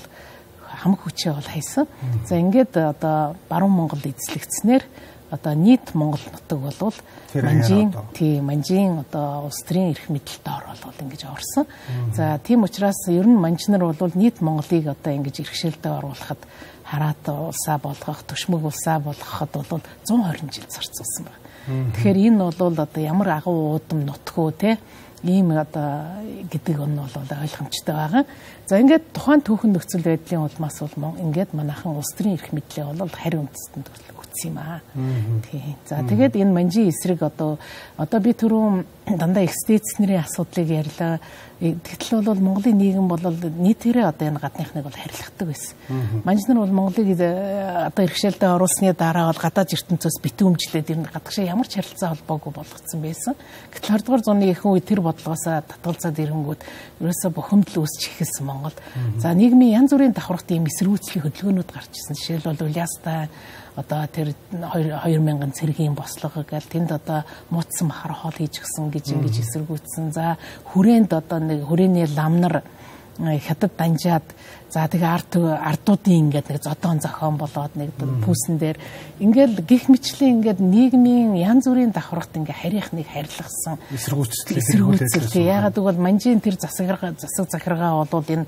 хамаг хүчээ бол хайсан. За ингээд одоо баруун Монгол эзлэгдснээр одоо нийт Монгол нутаг бол манжийн тий манжийн одоо улс төрийн эрх мэдэлд ор бол ингэж орсон. За тийм учраас ер нь манжнар бол нийт Монголыг одоо ингэж эрхшээлдээ оруулахад хараат улсаа болгох, төшмөг улсаа болгоход бол зуун хорин жил зарцуулсан байна. Тэгэхээр энэ бол одоо ямар агуу уудам нутгуу те ийм одоо гэдэг нь бол ойлгомжтой байгаа. За ингээд тухайн түүхэн нөхцөл байдлын улмаас бол ингээд манайхан улс төрийн эрх мэдлээ бол харь үндэстэн өгсөн юм аа. Тийм. За тэгээд энэ манжийн эсрэг одоо одоо би түрүүн дандаа экстенц нэрийн асуудлыг ярьлаа. Тэгтэл бол Монголын нийгэм бол нийтээрээ одоо энэ гадныхныг бол харилцдаг байсан. Манжнар бол Монголыг одоо эрхшээлдээ оруулсны дараа бол гадаад ертөнцөөс битүүмжлээд энэ гадагшаа ямар ч харилцаа холбоогүй болгоцсон байсан. Гэтэл хоёрдугаар зууны ихэнх үе тэр бодлогоосоо татгалзаад ирэнгүүт ерөөсөө бухимдал үүсч эхэлсэн Монгол. За нийгмийн янз бүрийн давхархт ийм эсэргүүцлийн хөдөлгөөнүүд гарч ирсэн. Жишээлбэл Уляастай одоо тэр тэр хоёр мянган цэргийн бослого гэл тэнд одоо муудсан махар хоол хийж гисэн гэж ингэж эсэргүүцсэн. За хүрээнд одоо нэг хүрээний лам нар хятад данжаад за тэгээ ард ардуудын ингээд нэг зодон зохион болоод нэг пүүсэн дээр ингээд гих мэтчлийн ингээд нийгмийн янз бүрийн давхаргад ингээд харих нэг харилцсан эсэргүүцэл ягаад гэвэл манжийн тэр засаг засаг захиргаа бол энэ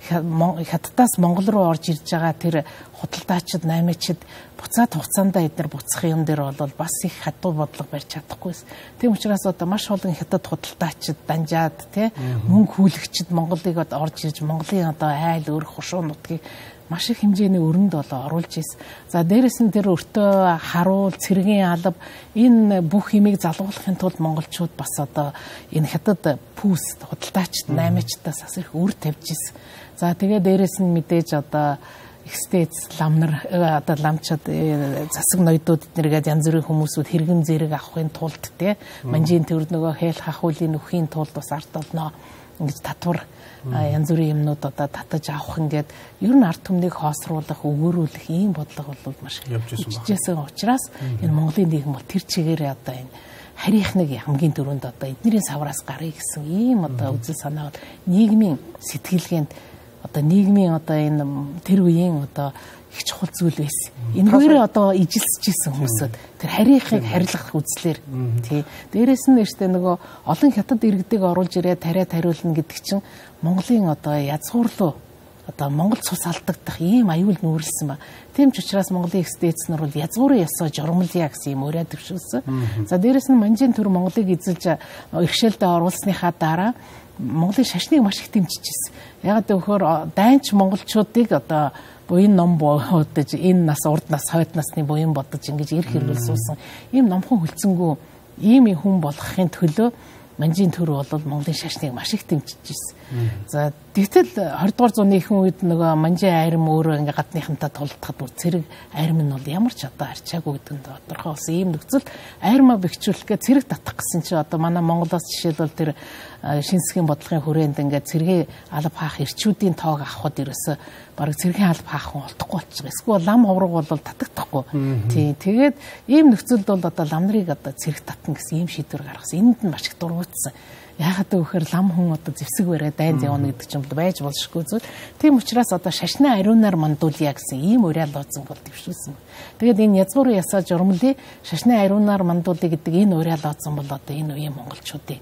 хятадаас Монгол руу орж ирж байгаа тэр худалдаачид наймаачид буцаад хугацаанд эдгээр буцах юм дээр бол бас их хатуу бодлого барьж чадахгүйс. Тийм учраас одоо маш олон хятад худалдаачид данжаад тий мөнгө хүлэгчид Монголыг орж ирж Монголын одоо айл өөр хушуу нутгийг маш их хэмжээний өрөнд болоо оруулж ирсэн. За дээрэс нь тэр өртөө харуул, цэргийн алба энэ бүх юмыг залгуулахын тулд монголчууд бас одоо энэ хятад пүүс худалдаачид наймаачдаас бас их үр тавьж ирсэн. За тэгээ дээрэс нь мэдээж одоо экстейц ламнар одоо ламчад засаг ноёдууд эднэргээд янз бүрийн хүмүүсүүд хэрэгэн зэрэг авахын тулд те манжийн төр нөгөө хэл хахуулын нөхийн тулд бас ард олноо ингэж татвар янз бүрийн юмнууд одоо татаж авах ингээд ер нь ард түмнийг хоосруулах өгөөрүүлэх ийм бодлого бол маш хичээсэн учраас энэ Монголын нийгэм бол тэр чигээр одоо энэ харих нэг хамгийн дөрөнд одоо эднэрийн савраас гарыг гэсэн ийм одоо үзэл санаа бол нийгмийн сэтгэлгээнд одоо нийгмийн одоо энэ тэр үеийн одоо их чухал зүйл байсан. Энэгээр одоо ижилсэж исэн хүмүүсүүд тэр харийнхыг харилцах үзлэр тий. Дээрээс нь нэштэй нөгөө олон хятад иргэдэг оруулж ирээд тариа тариулна гэдэг чинь Монголын одоо язгуурлуу одоо Монгол цус алдагдах ийм аюул нүүрлсэн ба. Тийм ч учраас Монголын экстейц нар бол язгуурын ёсоо журмалъя гэсэн юм өрөө төвшүүлсэн. За дээрээс нь манжийн төр Монголыг эзэлж иргэшээлдээ оруулсныхаа дараа Монголын шашныг маш их дэмжижсэн. Яг гэвэл дайнч монголчуудыг одоо буян ном бодож энэ нас урд нас хойд насны буян бодож ингэж ирэх хэрэгэл суусан. Ийм номхон хөлцөнгөө ийм хүн болгохын төлөө манжийн төр бол Монголын шашныг маш их дэмжижсэн. За тэгтэл хоёрдугаар зууны ихэнх үед нөгөө манжийн айрам өөрөө ингээ гадныхантаа тулдахад бүр цэрэг айрам нь бол ямар ч одоо арчаагүй гэдэг нь тодорхой болсон. Ийм нөхцөл айрмаа бэхжүүлэхгээ цэрэг татах гэсэн чинь одоо манай Монголоос жишээлбэл тэр шинсгийн бодлогын хүрээнд ингээ цэргийн алба хаах эрчүүдийн тоог авахд ерөөсө бараг цэргийн алба хаах хүн олдохгүй болчихсон. Эсвэл лам ховрог бол татагдахгүй. Тий. Тэгээд ийм нөхцөлд бол одоо лам нарыг одоо цэрэг татна гэсэн ийм шийдвэр гаргасан. Энд нь маш их дургуутсан. Яагаад гэвэл лам хүн одоо зэвсэг барай дайнд явна гэдэг чинь байж болшгүй зүйл. Тийм учраас одоо шашны ариунаар мандуулъя гэсэн ийм уриал лооцсон бол дэвшүүлсэн. Тэгээд энэ язгуурын ясаа журмлын шашны ариунаар мандуулъя гэдэг энэ уриал лооцсон бол одоо энэ үеийн монголчуудын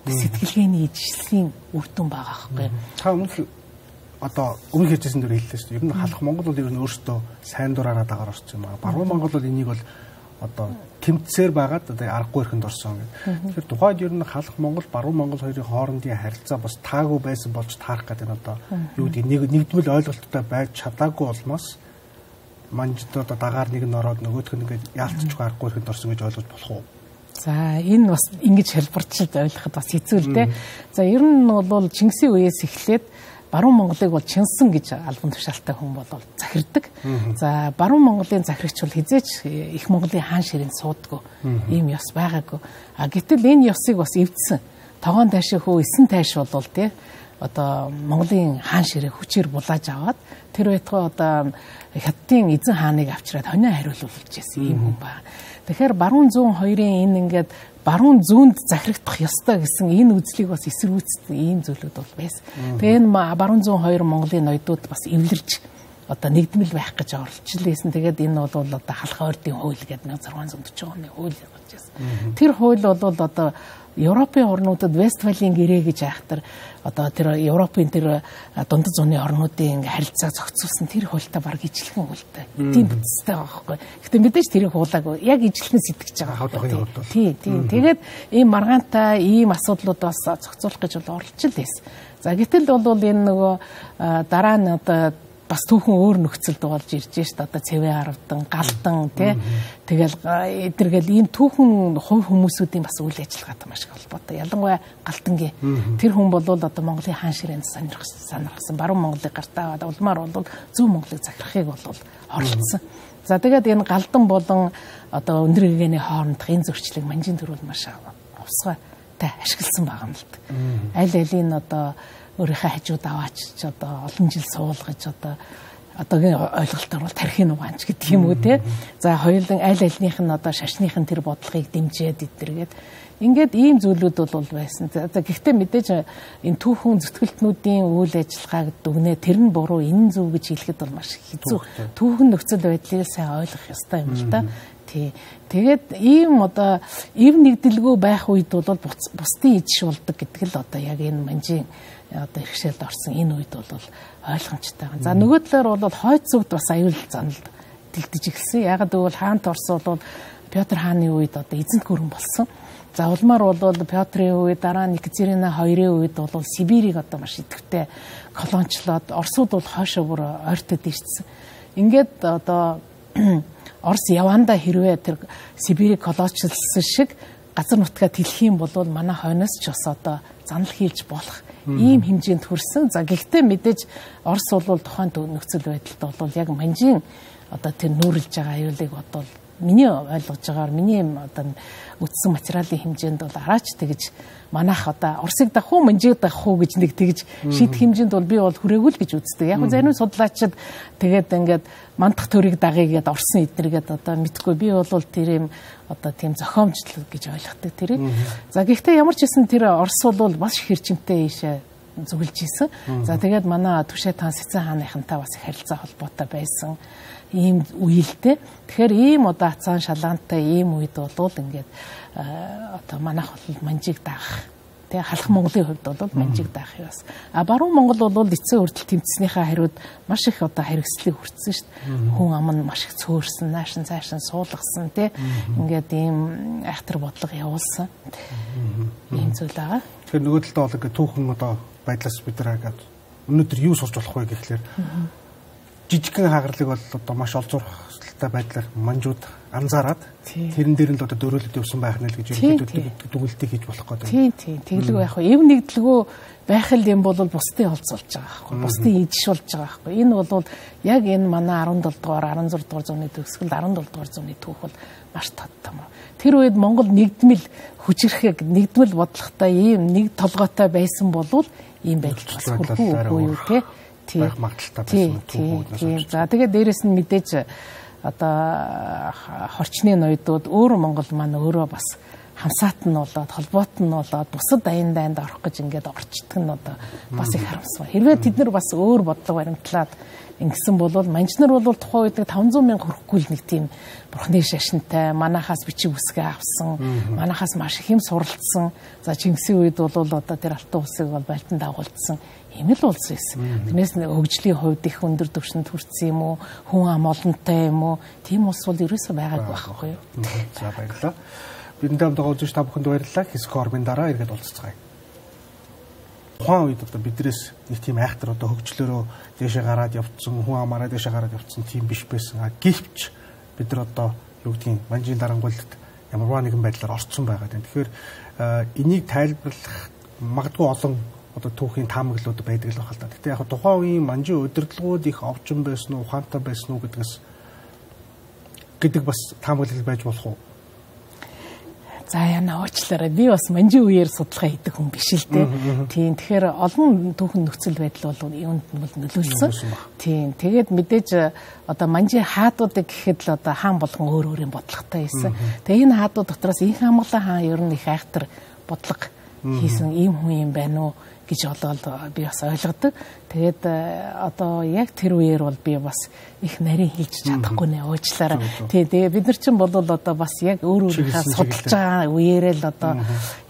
сэтгэлгээний ижилслийн үр дүн байгаа байхгүй. Та өмнө одоо өмнө хэлжсэн дээр хэллээ шүү дээ. Ер нь халах Монгол бол ер нь өөртөө сайн дураараа дагаар орсон юм аа. Баруун Монгол бол энийг бол одоо тэмцээр байгаад одоо аргагүй ихэнд орсон гэдэг. Тэгэхээр тухайд ер нь халах Монгол, баруун Монгол хоёрын хоорондын харилцаа бас таагүй байсан болж таарах гэдэг нь одоо юу гэдэг нэг нэгдмэл ойлголттой байж чадаагүй болмоос манжид одоо дагаар нэг нь ороод нөгөөх нь ингээд яалтчгүй аргагүй ихэнд орсон гэж ойлгож болох уу? За энэ бас ингэж хэлбэрчилж ойлгоход бас хэцүү л дээ. За ер нь бол Чингисийн үеэс эхлээд баруун Монголыг бол чинсэн гэж албан тушаалтай хүн бол захирддаг. За баруун Монголын захирагч бол хизээч их Монголын хаан ширэнд суудаггүй. Ийм ёс байгаагүй. А гэтэл энэ ёсыг бас эвдсэн. Тогоон тайшаа хөө эсэн тайш бол тий одоо Монголын хаан ширээ хүчээр булааж аваад тэр байтугай одоо хятадын эзэн хааныг авчираад хонио хариулуулж ирсэн ийм хүн байна. Тэгэхээр баруун зүүн хоёрын энэ ингээд баруун зүүнд захирагдах ёстой гэсэн энэ үзлийг бас эсэргүүцсэн ийм зүйлүүд бол байсан. Тэгээ энэ баруун зүүн хоёр Монголын ноёдууд бас эвлэрж одоо нэгдмэл байх гэж оролцлээсэн. Тэгээд энэ бол одоо халах ойрдын хууль гэдэг нэг зургаан зуун дөрвөн оны хууль гарч ирсэн. Тэр хууль бол одоо Европын орнуудад Вестфалийн гэрээ гэж айхтар одоо тэр Европын тэр дундад зууны орнуудын ингээ харилцаа зохицуулсан тэр хуультай баг ижилхэн хуультай. Тийм бүтцтэй байгаа байхгүй. Гэтэ мэдээж тэрийг хуулаагүй. Яг ижилхэн сэтгэж байгаа. Тий, тий. Тэгээд ийм маргаантай ийм асуудлууд бас зохицуулах гэж бол оролж л байсан. За гэтэл бол энэ нөгөө дараа нь одоо бас түүхэн өөр нөхцөлд болж ирж шít одоо цэвэ харавдан галдан тий тэгэл эдэргээл ийм түүхэн хувь хүмүүсүүдийн бас үйл ажиллагаатай маш их холбоотой ялангуяа галдангийн тэр хүн бол одоо Монголын хаан ширээнд сонирхсан сонирхсан баруун Монголыг гартаа аваад улмаар бол зүүн Монголыг захирахыг бол оролцсон. За тэгээд энэ галдан болон одоо өндөр гэгэний хоорондох энэ зөрчлийг манжийн төр бол маш авсгайтай ашигласан байгаа юм л да. Аль алийн одоо өөрийнхөө хажууд аваач одоо олон жил суулгаж одоо одоогийн ойлголтоор бол тархины угаанч гэдэг юм уу те. За хоёулын аль альнийх нь одоо шашныхын тэр бодлогыг дэмжиж идэргээд ингээд ийм зүйлүүд бол байсан. За гэхдээ мэдээж энэ түүхэн зүтгэлтнүүдийн үйл ажиллагааг дүгнээ тэр нь буруу энэ зөв гэж хэлэхэд бол маш хэцүү. Түүхэн нөхцөл байдлыг сайн ойлгох ёстой юм л да. Тий. Тэгээд ийм одоо ив нэгдэлгүй байх үед бол бусдын иж болдог гэдэг л одоо яг энэ манжийн одоо иргэшээлд орсон энэ үед бол ойлгомжтой байна. За нөгөө талаар бол хойд зүгт бас аюул занал дэлдэж эхэлсэн. Ягаад гэвэл хаант Орос бол Петр хааны үед одоо эзэнт гүрэн болсон. За улмаар бол Петрийн үед дараа нь Екатерина хоёрын үед бол Сибирийг одоо маш идэвхтэй колончлоод Оросууд бол хойшоо бүр ойртоод ирсэн. Ингээд одоо Орос явандаа хэрвээ тэр Сибирийг колоничлсан шиг газар нутгаа тэлэх юм бол манай хойноос ч бас одоо занал хийлж болох ийм хэмжээнд хүрсэн. За гэхдээ мэдээж Орос бол тухайн нөхцөл байдалд бол яг манжийн одоо тэр нүүрлж байгаа аюулыг бодвол миний ойлгож байгаагаар миний одоо үтсэн материалын хэмжээнд бол араач тэгж манайх одоо Оросыг дах уу манжийг дах уу гэж нэг тэгж шийдэх хэмжээнд бол би бол хүрээгүй л гэж үздэг. Яг нь зарим судлаачид тэгээд ингээд мандах төрийг дагъя гэд Орсын эднэргээд одоо мэдгүй би бол тэр юм одоо тийм зохиомжлол гэж ойлгохдаг тэрийг. За гэхдээ ямар ч хэсэн тэр Орос бол бас хэрчимтэй ийшээ зүгэлж исэн. За тэгээд манай Түшээ таан Сэцэн хааныхантай бас их харилцаа холбоотой байсан ийм үеэлтэй. Тэгэхээр ийм одоо ацаан шалгаантай ийм үед бол ингээд одоо манайх бол манжийг даах. Тэ халах Монголын хувьд бол манжийг даах яас. А баруун Монгол бол эцсийн хүртэл тэмцснийхаа хариуд маш их одоо хариуцлыг хүртсэн шүү дээ. Хүн ам нь маш их цөөрсөн, наашин цаашин суулгасан тэ ингээд ийм айхтар бодлого явуулсан. Ийм зүйл байгаа. Тэгэхээр нөгөө талдаа бол ингээд түүхэн одоо байдлаас бид нар ингээд өнөөдөр юу сурч болох вэ гэхлээр жижигхэн хагарлыг бол одоо маш олзуурхалтай байдлаар манжууд анзаараад тэрэн дээр нь л одоо дөрөөлөд явсан байх нь л гэж ерөнхийдөө дүгнэлтийг хийж болох гэдэг. Тийм тийм тэглэг байх вэ. Эв нэгдлэгөө байх л юм бол бусдын олзуулж байгаа байхгүй. Бусдын ижшүүлж байгаа байхгүй. Энэ бол яг энэ манай арван долоо дугаар, арван зургаан дугаар зууны төгсгөл, арван долоо дугаар зууны түүх бол маш тодтом. Тэр үед Монгол нэгдмэл хүчрэхэг нэгдмэл бодлоготой ийм нэг толгойтой байсан болвол ийм байдал бас хүрхгүй юу те. Байх магадaltaй байсан түүхүүднээс. За тэгээд дээрэс нь мэдээж одоо хорчны ноёдууд өөр Монгол маань өөрөө бас хамсаат нь болоод холбоот нь болоод бусад аян дайнд орох гэж ингээд орчдөг нь одоо бас их харамсав. Хэрвээ тэд нар бас өөр бодлого баримтлаад ингэсэн бол манжнар бол тухайн үед таван зуун мянга хүрэхгүй л нэг тийм бурхны шашинтай манахаас бичиг үсгээ авсан, манахаас маш их юм суралцсан. За Чингисийн үед бол одоо тэр алтан улсыг бол байлдан дагуулсан ийм л улс байсан. Тэрнээс хөгжлийн хувьд их өндөр түвшинд хүрсэн юм уу, хүн ам олонтой юм уу? Тийм улс бол ерөөсөө байгаагүй байхгүй юу? За баярлалаа. Бидэнд хамт байгаа үзэгч та бүхэнд баярлалаа. Хэсэг хормын дараа эргээд уулзцгаая. Тухайн үед одоо бидрээс нэг тийм айхтар одоо хөгжлөөрөө дээшээ гараад явцсан, хүн амаараа дээшээ гараад явцсан тийм биш байсан. А гэвч бид нар одоо юу гэдгийг манжийн дарангуйлалд ямарваа нэгэн байдлаар орцсон байгаа юм. Тэгэхээр энийг тайлбарлах магадгүй олон одоо түүхийн таамаглууд байдаг л байна. Гэхдээ яг тухайн үеийн манжийн удирдлагууд их овчин байсан уу, ухаантай байсан уу гэдгээс гэдэг бас таамаглал байж болох уу? За яна уучлаарай. Би бас манжийн үеэр судалгаа хийдэг хүн биш л дээ. Тийм. Тэгэхээр олон түүхэн нөхцөл байдал бол юунд нь бол нөлөөлсөн. Тийм. Тэгээд мэдээж одоо манжийн хаадуудыг гэхэд л одоо хаан болгон өөр өөрийн бодлоготой байсан. Тэгээ энэ хаадууд дотроос их хамглан хаан ер нь их айхтар бодлого хийсэн ийм хүн юм байна уу гэж одоо би бас ойлгодог. Тэгээд одоо яг тэр үеэр бол би бас их нарийн хэлж чадахгүй нэ уучлаарай. Тэгээ бид нар чинь бол одоо бас яг өөр өөрийнхөө судалж байгаа үеэрээ л одоо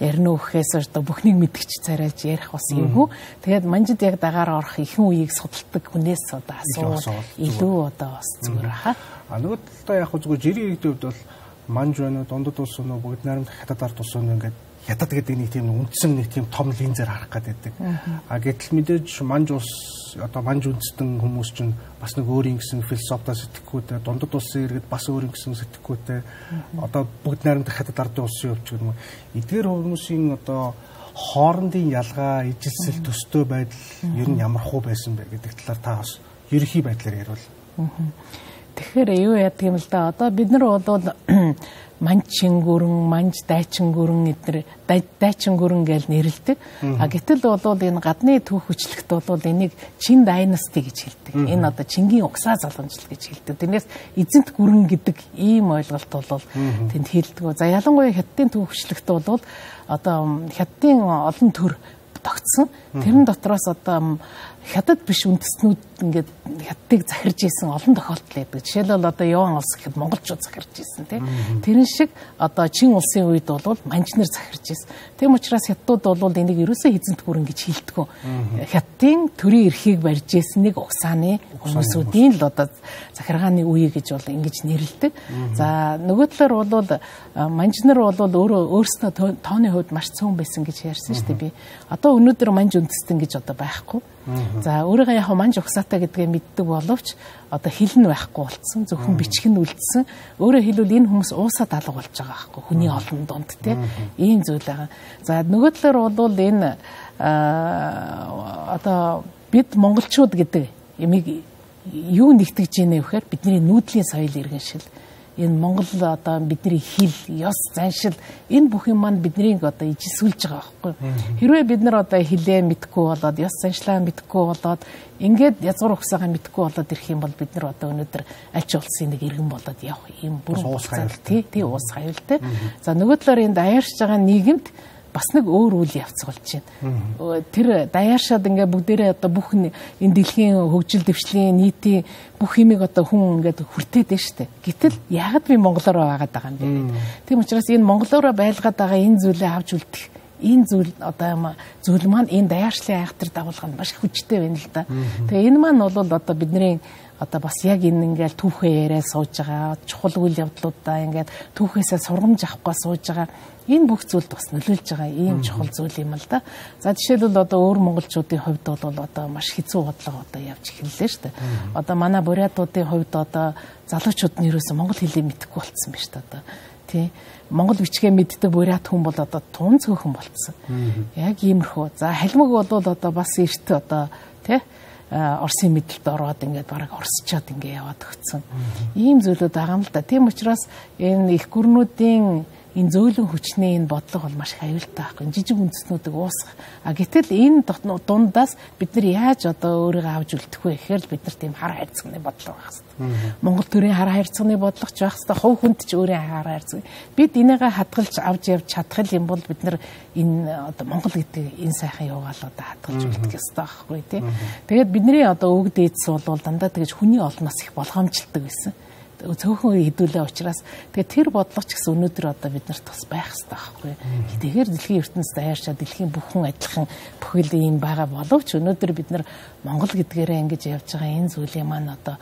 ярина үхэхээс одоо бүхнийг мэдгч царайлж ярих бас юмгүй. Тэгээд манжид яг дагаар орох ихэнх үеийг судалдаг хүнээс одоо асуувал илүү одоо бас зүгээр хаа. А нөгөө талаа яг зүгээр жирийн үед бол манж байна уу, дундад улс уу, бүгд найрамд хятад ард улс уу ингээд ятад гэдэг нэг тийм үндсэн нэг тийм том линзээр харах гэдэг. А гэтэл мэдээж манж улс одоо манж үндэстэн хүмүүс чинь бас нэг өөрийн гэсэн философитой сэтгэхүйтэй, дундад улсын иргэд бас өөрийн гэсэн сэтгэхүйтэй. Одоо бүгд найрамдах хятад ардын улсын өвч гэдэг юм. Эдгээр хүмүүсийн одоо хоорондын ялгаа, ижилсэл төстэй байдал ер нь ямар хуу байсан бэ гэдэг талаар та бас ерөнхий байдлаар ярил. Тэгэхээр юу яадаг юм л да. Одоо бид нар бол манж чингүрэн, манж дайчингүрэн эдгээр дайчингүрэн гэж нэрлэдэг. А гэтэл бол энэ гадны түүх хүчлэгт бол энийг Чин дайнасти гэж хэлдэг. Энэ одоо Чингийн угсаа залгамжил гэж хэлдэг. Тэрнээс эзэнт гүрэн гэдэг ийм ойлголт бол тэнд хэлдэг. За ялангуяа хятадын түүх хүчлэгт бол одоо хятадын олон төр тогтсон. Тэрэн дотроос одоо хятад биш үндэстнүүд ингээд хятадыг захирж исэн олон тохиолдол байдаг. Жишээлбэл одоо Яван улс гэхэд монголчууд захирж исэн тийм. Тэрэн шиг одоо Чин улсын үед бол манжнэр захирж исэн. Тийм учраас хятадууд бол энийг ерөөсөө эзэнт гүрэн гэж хэлдэг. Хятадын төрийн эрхийг барьж исэн нэг угсааны хүмүүсүүдийн л одоо захиргааны үе гэж бол ингэж нэрлэдэг. За нөгөө талаар бол манжнэр бол өөрөө өөрсдөө тооны хувьд маш цөөн байсан гэж ярьсан шүү дээ би. Одоо өнөөдөр манж үндэстэн гэж одоо байхгүй. За өөрийгөө яг манж угсаатай гэдгээ мэддэг боловч одоо хил нь байхгүй болцсон, зөвхөн бичиг нь үлдсэн. Өөрөөр хэлбэл энэ хүмүүс уусаад алга болж байгаа байхгүй хүний олон донд тий. Ийм зүйл байгаа. За нөгөө талаар бол энэ одоо бид монголчууд гэдэг ямиг юу нэгтгэж ийнэ вэхээр бидний нүүдлийн соёл иргэншил. Энэ Монгол одоо бидний хил, ёс, заншил энэ бүх юм маань биднийг одоо ижисүүлж байгаа байхгүй. Хэрвээ бид нар одоо хилээ мэдхгүй болоод, ёс заншлаа мэдхгүй болоод, ингээд язгуур ухсаагаа мэдхгүй болоод ирэх юм бол бид нар одоо өнөөдөр аль ч улсын нэг иргэн болоод явах юм бүрэн уус хаюул тий, тий уус хаюултай. За нөгөө талаар энэ даяарч байгаа нийгэмд бас нэг өөр үйл явц болж байна. Тэр даяаршаад ингээ бүгдээрээ одоо бүх энэ дэлхийн хөгжил дэвшлийн нийтийн бүх юмыг одоо хүн ингээд хүртээд байна шүү дээ. Гэтэл яагаад би монголоор байгаад байгаа юм бэ? Тийм учраас энэ монголоор байлгаад байгаа энэ зүйлээ авч үлдэх энэ зүйл одоо зүйл маань энэ даяаршлын айхтар дагуулганд маш хүчтэй байна л да. Тэгээ энэ маань бол одоо бидний одоо бас яг энэ ингээл түүхээ яриа сууж байгаа чухал үйл явдлуудаа ингээд түүхээсээ сургамж авахгүй сууж байгаа энэ бүх зүйлд бас нөлөөлж байгаа ийм чухал зүйл юм л да. За жишээлбэл одоо өөр монголчуудын хувьд бол одоо маш хэцүү бодлого одоо явж эхэллээ шүү дээ. Одоо манай бурятуудын хувьд одоо залуучууд нь ерөөсөн монгол хэлийг мэдэхгүй болцсон байна шүү дээ одоо. Тий. Монгол бичгээ мэддэг бурят хүн бол одоо тун цөөхөн болцсон. Яг иймэрхүү. За халимаг бол одоо бас эрт одоо тий Орсын мэдлэлд ороод ингээд бараг орсчоод ингээд яваад өгцөн. Ийм зүйлүүд байгаа юм л да. Тийм учраас энэ их гүрнүүдийн энэ зөөлөн хүчний энэ бодлого бол маш их аюултай байхгүй. Жижиг үндэстнүүдийг уусгах. А гэтэл энэ дундаас бид нар яаж одоо өөрийгөө авч үлдэх вэ гэхээр бид нар тийм хар хайрцагны бодлого байх хэрэгтэй. Монгол төрийн хар хайрцагны бодлого ч байх хэрэгтэй. Хувь хүнд ч өөрийн хар хайрцаг. Бид энийгээ хадгалж авч явж чадах юм бол бид нар энэ одоо Монгол гэдэг энэ сайхан явгаал одоо хадгалж үлдэх ёстой байхгүй тий. Тэгээд бидний одоо өвөг дээдс бол дандаа тэгэж хүний олноос их болгоомжлдог байсан. Цөөхөн хэдүүлээ учраас тэгээ тэр бодлого ч гэсэн өнөөдөр одоо бид нарт бас байх хэрэгтэй байхгүй. Тэгэхээр дэлхийн ертөнцид даяарчаа дэлхийн бүхэн адилхан бүхэл юм байгаа боловч өнөөдөр бид нар Монгол гэдгээрээ ингэж явж байгаа энэ зүйлийн маань одоо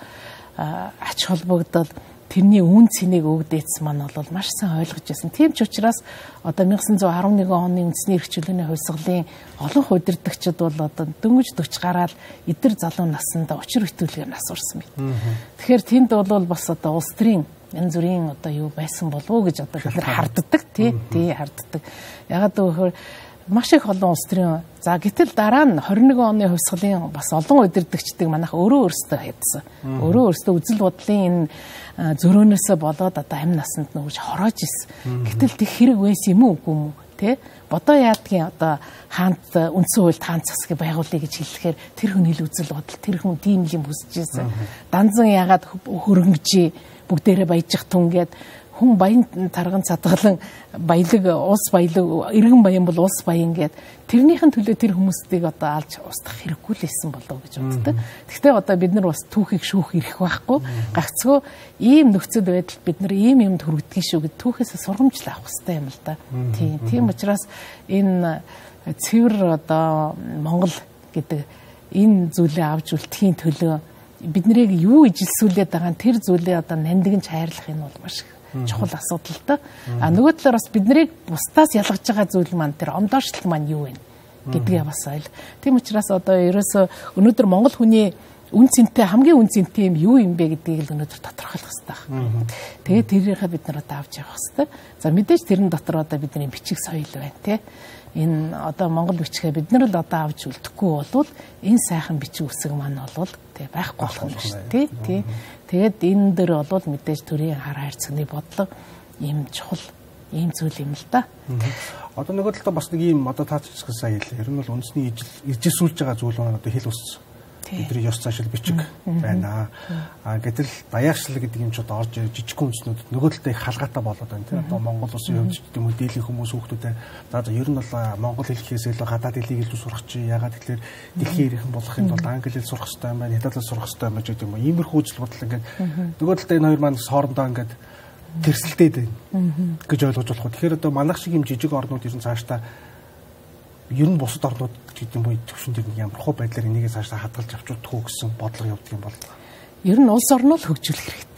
ач холбогдол тэрний үн цэнийг өвдөц маань бол маш сайн ойлгож байсан. Тийм ч учраас одоо 천구 арван нэгэн оны үндэсний эрх чөлөөний хувьсгалын олон удирдагчид бол одоо дөнгөж дөрвж гараад эдэр залуу насндаа учир хөтөлгөөр насурсан байна. Тэгэхээр тэнд бол бас одоо улс төрийн янз бүрийн одоо юу байсан болов уу гэж одоо бид нар харддаг тий тий харддаг. Ягаад гэвэл маш их олон улс төрийн за гэтэл дараа нь хорин нэгэн оны хувьсгалын бас олон удирдагчдыг манайх өөрөө өөрсдөө хийдсэн. Өөрөө өөрсдөө үзэл бодлын энэ зөрөөнөөсөө болоод одоо амь насанд нүрж хороож исэн. Гэтэл тэг хэрэг байсан юм уу үгүй юм те бодоо яадгийн одоо хаант үндсэн хуульд хаан засгийг байгуулъя гэж хэлэхээр тэр хүн хэл үзэл бодол тэр хүн тийм юм хүсэж исэн. Данзан ягаад хөрөнгөжээ бүгдээрээ баяжих түн гээд хүн баян тарган цадгалан баялаг ус баялаг иргэн баян бол ус баян гэд тэрнийхэн төлөө тэр хүмүүсийг одоо алж устгах хэрэггүй л исэн болов гэж боддог. Гэхдээ одоо бид нар бас түүхийг шүүх эрх байхгүй. Гагцгүй ийм нөхцөл байдал бид нар ийм юмд хүргэдгийг шүү гэд түүхээсээ сургамжлал авах хэрэгтэй юм л да. Тийм. Тийм учраас энэ цэвэр одоо Монгол гэдэг энэ зүйлээ авч үлдэхийн төлөө бид нарыг юу ижилсүүлээд байгаа тэр зүйлээ одоо нандинж хайрлах нь бол маш чухал асуудал та. А нөгөө талаар бас биднийг бусдаас ялгаж байгаа зүйл маань тэр ондоошлт маань юу вэ гэдгээ бас ойл. Тийм учраас одоо ерөөсө өнөөдөр Монгол хүний үн цэнтэй хамгийн үн цэнтэй юм юу юм бэ гэдгийг л өнөөдөр тодорхойлох хэрэгтэй байна. Тэгээд тэрийнхээ бид нар одоо авч явах хэрэгтэй. За мэдээж тэрэн дотор одоо бидний бичиг соёл байна тий. энэ одоо Монгол бичгээ бид нар л одоо авч үлдэхгүй болвол энэ сайхан бичиг үсэг маань болвол тий байхгүй болох нь шүү дээ тий. Тэгээд энэ дөр болвол мэдээж төрийн хар хайрцагны бодлого ийм чухал ийм зүйл юм л да. Одоо нөгөө талаа бас нэг ийм одоо таач сая хэлээ. Ер нь бол үндэсний ижил байгаа зүйл маань одоо хэл ус бидний ёс заншил бичиг байна. А гэтэл даяаршил гэдэг юм ч одоо орж жижиг үндэснүүдэд нөгөө талаа их халгаатай болоод байна тийм. Одоо Монгол улсын хувьд гэдэг юм уу дийлэх хүмүүс хүүхдүүдээ за ер нь бол монгол хэлхээс илүү гадаад хэлийг илүү сурах чи ягаад тэгэхээр дэлхийн ирэх болохын тулд англи хэл сурах хэрэгтэй юм байна. Хятад хэл сурах хэрэгтэй юм гэдэг юм уу. Иймэрхүү үзэл бодол ингээд нөгөө талаа энэ хоёр маань хоорондоо ингээд тэрсэлтэй байна гэж ойлгож болох. Тэгэхээр одоо манайх шиг юм жижиг орнууд ер нь цаашдаа ер нь бусад орнууд гэдэг юм уу төвшин дээр ямар хөө байдлаар энийгээ цаашдаа хадгалж авчудах уу гэсэн бодлого явдаг юм бол. Ер нь улс орноо л хөгжүүлэх хэрэгтэй.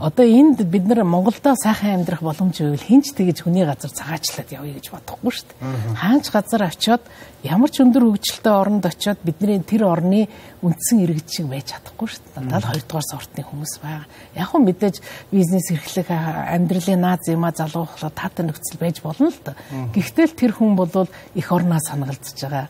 Одоо энд бид нар Монголдо сайхан амьдрах боломж байвал хинч тэгэж хүний газар цагаачлаад явъя гэж бодохгүй шүү дээ. Хаанч газар очиод ямар ч өндөр хөгжилтэй оронд очиод бидний тэр орны үндсэн иргэд шиг байж чадахгүй шүү дээ. Дандаа хоёрдугаар сортны хүмүүс байгаа. Яг хөө мэдээж бизнес эрхлэх амьдралын наад зэмаа залуухлаа таатай нөхцөл байж болно л да. Гэхдээ л тэр хүн бол их орноо санагалдж байгаа.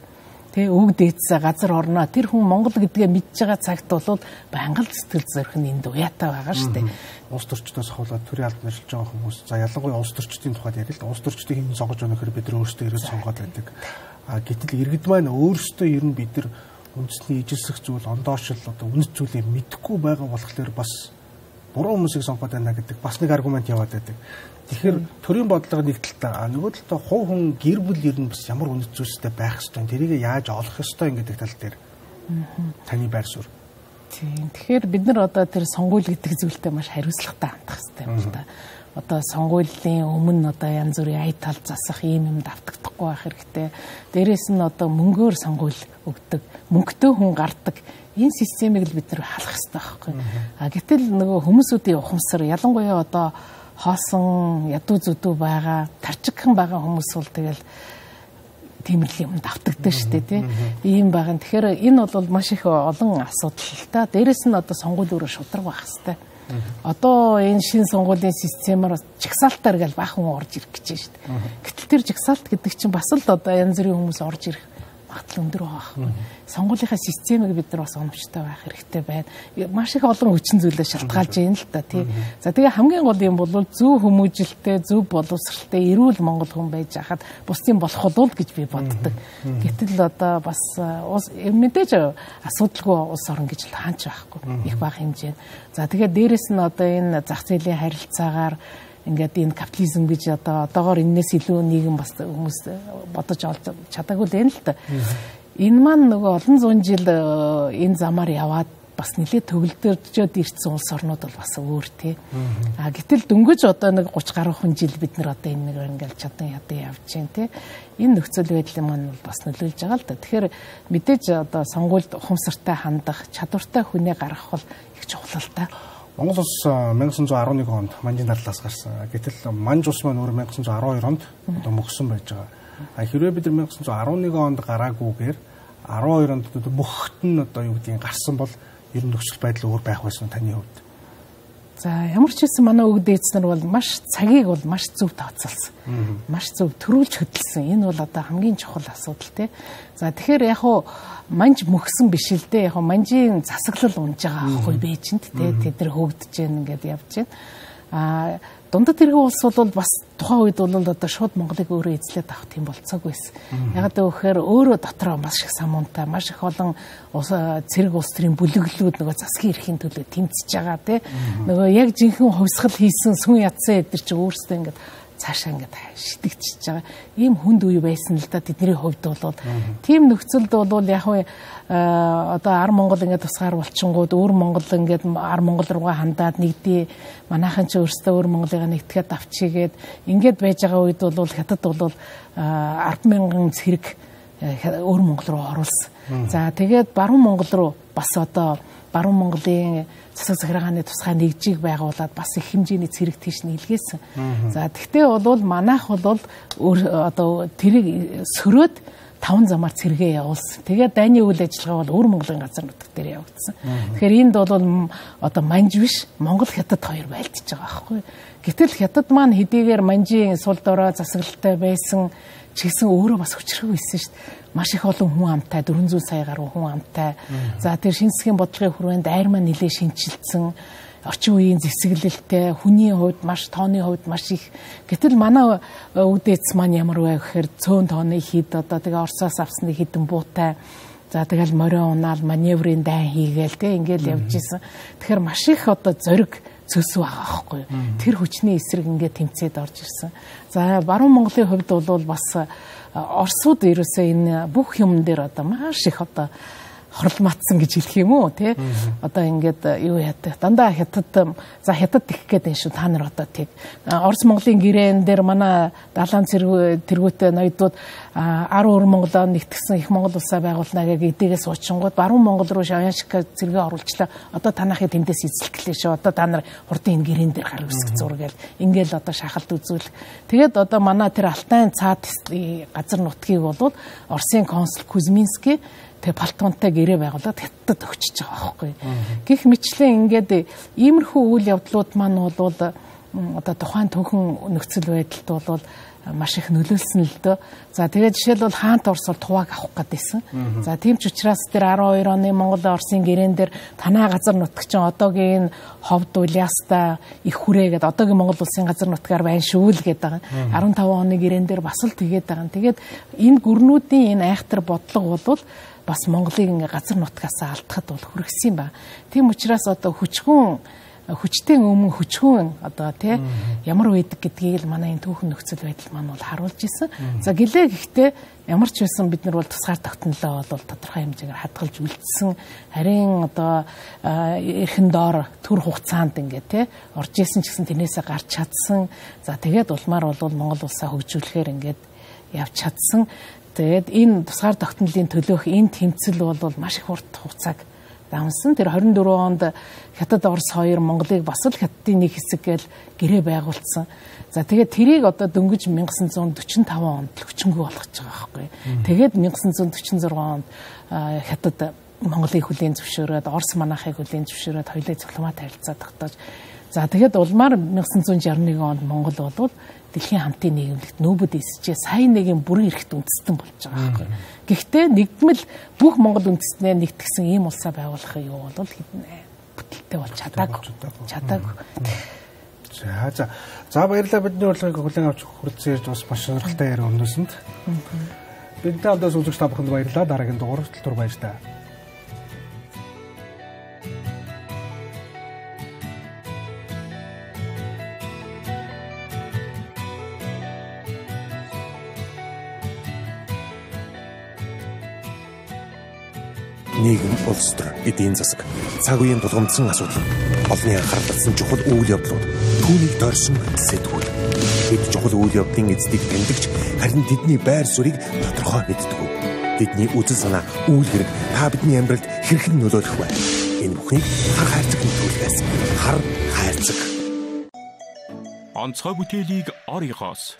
Тэ үг дээдсээ газар орноо тэр хүн Монгол гэдгээ мэдж байгаа цагт бол байнга л сэтгэл зүрх нь энд уяатай байгаа шүү дээ. Улс төрчдөөс хавуулаад төрийн албанд ажиллаж байгаа хүмүүс за ялангуяа улс төрчдийн тухайд ярил л улс төрчдийг хэн сонгож байгаа нөхөр бид нар өөрсдөө ирээд сонгоод байдаг. А гэтэл иргэд маань өөрсдөө ер нь бид нар үндэсний ижилсэх зүйл ондоошил одоо үнэт зүйлийг мэдэхгүй байгаа болохоор бас буруу хүмүүсийг сонгоод байна гэдэг бас нэг аргумент яваад байдаг. Тэгэхээр төрийн бодлого нэг талтай нөгөө талтай хувь хүн гэр бүл ер нь бас ямар үнэт зүйлстэй байх ёстой. Тэрийг яаж олох ёстой гэдэг тал дээр таны байр суурь. Тийм. Тэгэхээр бид нар одоо тэр сонгуул гэдэг зүйлтэй маш хариуцлагатай хандах хэрэгтэй юм л да. Одоо сонгуулийн өмнө одоо янз бүрийн ая тал засах ийм юм давтагдахгүй байх хэрэгтэй. Дээрээс нь одоо мөнгөөр сонгуул өгдөг, мөнгөтэй хүн гардаг энэ системийг л бид нар халах хэрэгтэй байхгүй. А гэтэл нөгөө хүмүүсүүдийн ухамсар ялангуяа одоо хоосон ядуу зүдүү байгаа тарчигхан байгаа хүмүүс бол тэгэл тиймэрхүү юм давтагддаг шүү дээ тий. Ийм байгаа. Тэгэхээр энэ бол маш их олон асуудал л та. Дээрээс нь одоо сонгуулийн өрөө шудраг байх хэвээр. Одоо энэ шин сонгуулийн системээр жигсаалтаар гал баахан орж ирэх гэж байна шүү дээ. Гэтэл тэр жигсаалт гэдэг чинь бас л одоо янз бүрийн хүмүүс орж ирэх магадлал өндөр байгаа. Сонгуулийнхаа системийг бид нар бас оновчтой байх хэрэгтэй байна. Маш их олон хүчин зүйлээ шалтгаалж байна л да тий. За тэгээ хамгийн гол юм бол зөв хүмүүжилтэй, зөв боловсралтай, эрүүл монгол хүн байж хахад бусдын болох болов гэж би боддог. Гэтэл одоо бас мэдээж асуудалгүй улс орн гэж л хаанч байхгүй. Их бага хэмжээ. За тэгээ дээрэс нь одоо энэ зах зээлийн харилцаагаар ингээд энэ капитализм гэж одоо одоогоор энэс илүү нийгэм бас хүмүүс бодож олж чадаагүй л юм л та. Энэ маань нөгөө олон зуун жил энэ замаар яваад бас нэлээд төгөлдөж ирсэн улс орнууд бол бас өөр тий. А гэтэл дөнгөж одоо нэг гуч гаруй хүн жил бид нар одоо энэ нэг ингээд чадан ядаа явж байна тий. Энэ нөхцөл байдлын маань бол бас нөлөөлж байгаа л да. Тэгэхээр мэдээж одоо сонгуульд ухамсартай хандах, чадвартай хүнээ гаргах бол их чухал л та. Монгол улс 천구 арван нэг онд манжийн дадлаас гарсан. Гэтэл манж улс маань өөр 천구 арван хоёр онд одоо мөхсөн байж байгаа. А хэрвээ бид нар 천구 арван нэг онд гараагүйгээр арван хоёр онд мөхт нь одоо юу гэдгийг гарсан бол ер нь нөхцөл байдал өөр байх байсан таны хувьд. За ямар ч хэлсэн манай өвөг дээдс нар бол маш цагийг бол маш зөв тооцоолсон. Маш зөв төрүүлж хөдөлсөн. Энэ бол одоо хамгийн чухал асуудал тий. За тэгэхээр яг хуу манж мөхсөн биш л дээ. Яг хуу манжийн засаглал унж байгаа аахгүй бэжэнд тий. Тэд нар хөөгдөж гэн ингээд явж гэн. А дундад тэрэг улс бол бас тухайн үед бол одоо шууд Монголыг өөрөө эзлээд авах тийм болцоог байсан. Яг гэвэл өөрөө дотроо маш их самуунтай, маш их олон цэрэг улс төрийн бүлэглүүд нөгөө засгийн эрхийн төлөө тэмцэж байгаа тий. Нөгөө яг жинхэнэ хувьсгал хийсэн сүн ядсан эдэр чи өөрсдөө ингээд цаашаа ингээд шидэгдчихэж байгаа. Ийм хүнд үе байсан л да тэдний хувьд бол. Тийм нөхцөлд бол яг хөө одоо ар Монгол ингээд тусгаар болчингууд өөр Монгол ингээд ар Монгол руугаа хандаад нэгдээ манайхан ч өөрсдөө өөр Монголыг нэгтгэхэд авчигээд ингээд байж байгаа үед бол хятад бол ард мянган цэрэг өөр Монгол руу оруулсан. За тэгээд баруун Монгол руу бас одоо баруун Монголын засаг захиргааны тусгай нэгжийг байгуулад бас их хэмжээний цэрэг тийш нийлгээсэн. За тэгтээ бол манайх бол одоо тэрийг сөрөөд таван замаар цэргээ явуулсан. Тэгээд дайны үйл ажиллагаа бол өвөр Монголын газар нутаг дээр явагдсан. Тэгэхээр энд бол одоо манж биш Монгол хятад хоёр байлдж байгаа байхгүй. Гэтэл хятад маань хэдийгээр манжийн сул дорой засаглалтай байсан ч гэсэн өөрөө бас хүчрэг байсан шүү дээ. Маш их олон хүн амтай дөрвөн зуун сая гаруй хүн амтай. За тэр шинжлэхийн бодлогын хүрээнд айр маань нэлээд шинжилсэн. Орчин үеийн зэвсэглэлтэй хүний хувьд маш тооны хувьд маш их. Гэтэл манай өвдөц маань ямар вэ гэхээр цөөн тооны хід одоо тэгээ Оросоос авсны хідэн буутай. За тэгэл морио унаал маневрын дай хийгээл тэгээ ингээл явж исэн. Тэгэхээр маш их одоо зориг цөс байгаа байхгүй. Тэр хүчний эсрэг ингээд тэмцээд орж ирсэн. За баруун Монголын хувьд бол бас Оросууд ерөөсөө энэ бүх юм дээр одоо маш их одоо хорлматсан гэж хэлэх юм уу тий. Одоо ингээд юу яадаг дандаа хятад за хятад их гээд энэ шүү та нар одоо тий. Орос Монголын гэрээн дээр манай далайн тэргүүтэй ноёдууд ар өр Монголоо нэгтгсэн их Монгол улсаа байгуулнаа гэж эдгээс уучингууд баруун Монгол руу Шавьяншик зэрэгээ оруулчлаа. Одоо танахыг тэндээс эзэлтгэлээ шүү. Одоо та нар хурдан энэ гэрээн дээр гар үсгэх зургээл ингээл одоо шахалт үзүүлэх. Тэгээд одоо манай тэр Алтайн цаад газар нутгийг бол Оросын консул Кузьминский тэг палтонтой гэрээ байгуулад хятад өгчөж байгаа байхгүй. Гэх мэтлэн ингээд иймэрхүү үйл явдлууд маань бол одоо тухайн түүхэн нөхцөл байдалд бол маш их нөлөөлсөн л дөө. За тэгээд жишээлбэл хаант Орос бол тувааг авах гэдээсэн. За тийм ч учраас тэр арван хоёр оны Монгол Оросын гэрээн дээр танаа газар нутаг чинь одоогийн Ховд Улааста их хүрээ гэдэг одоогийн Монгол улсын газар нутгаар байна шүү л гэдэг байгаа. арван таван оны гэрээн дээр бас л тэгээд байгаа. Тэгээд энэ гүрнүүдийн энэ айхтар бодлого бол бас Монголыг ингээ газар нутгаас алдахад бол хүргэсэн ба. Тийм учраас одоо хүчгүн хүчтэй өмнө хүчгүн одоо тий ямар байдаг гэдгийг л манай энэ түүхэн нөхцөл байдал маань бол харуулж исэн. За гэлээ гэхдээ ямар ч байсан бид нар бол тусгаар тогтнолоо бол тодорхой хэмжээгээр хадгалж үлдсэн. Харин одоо эрхэн доор төр хугацаанд ингээ тий орж исэн ч гэсэн тэрнээсээ гарч чадсан. За тэгээд улмаар бол Монгол улсаа хөгжүүлэхээр ингээд явж чадсан. Тэгээд энэ тусгаар тогтнолын төлөөх энэ тэмцэл бол маш их урт хугацааг давсан. Тэр хорин дөрвөн онд Хятад Орос хоёр Монголыг бас л Хятадын нэг хэсэг гээл гэрээ байгуулсан. За тэгээд тэрийг одоо дөнгөж 천ix дөрвөн онд хүчингүй болгож байгаа байхгүй. Тэгээд 천ix дөрвөн онд Хятад Монголыг хүлээн зөвшөөрөөд Орос манайхыг хүлээн зөвшөөрөөд хоёулаа дипломат харилцаа тогтоож. За тэгээд улмаар 천ix шестьдесят нэг онд Монгол болвол дэлхийн хамтын нийгэмлэгт нөөбөд эсчээ сайн нэгэн бүрэн эрэхт үндэстэн болж байгаа байхгүй. Гэхдээ нэгдмэл бүх Монгол үндэстнээ нэгтгсэн ийм улсаа байгуулах юу бол хэдэн бүтэлтэй болж чадаагүй. Чадаагүй. За за. За баярлалаа бидний урилгыг хүлээн авч хүрэлцэн ирж бас маш сонирхолтой яриа өрнөсөнд. Бидэнтэй хамтдаа үзэгч та бүхэнд баярлалаа. Дараагийн дугаарт түр баяр та. Нийгэм, улс төр, эдийн засаг, цаг үеийн тулгамдсан асуудал, олонний анхаарал татсан чухал үйл явдлууд, түүнийг дорсон сэтгүүл. Бид чухал үйл явдлын эздийг тэмдэгч, харин тэдний байр суурийг тодорхой мэддэг. Тэдний үзэл санаа, үйл хэрэг та бидний амьдралд хэрхэн нөлөөлөх вэ? Энэ бүхнийг хар хайрцаг нөлөөлөхөөс хар хайрцаг. Онцгой бүтээлийг оригоос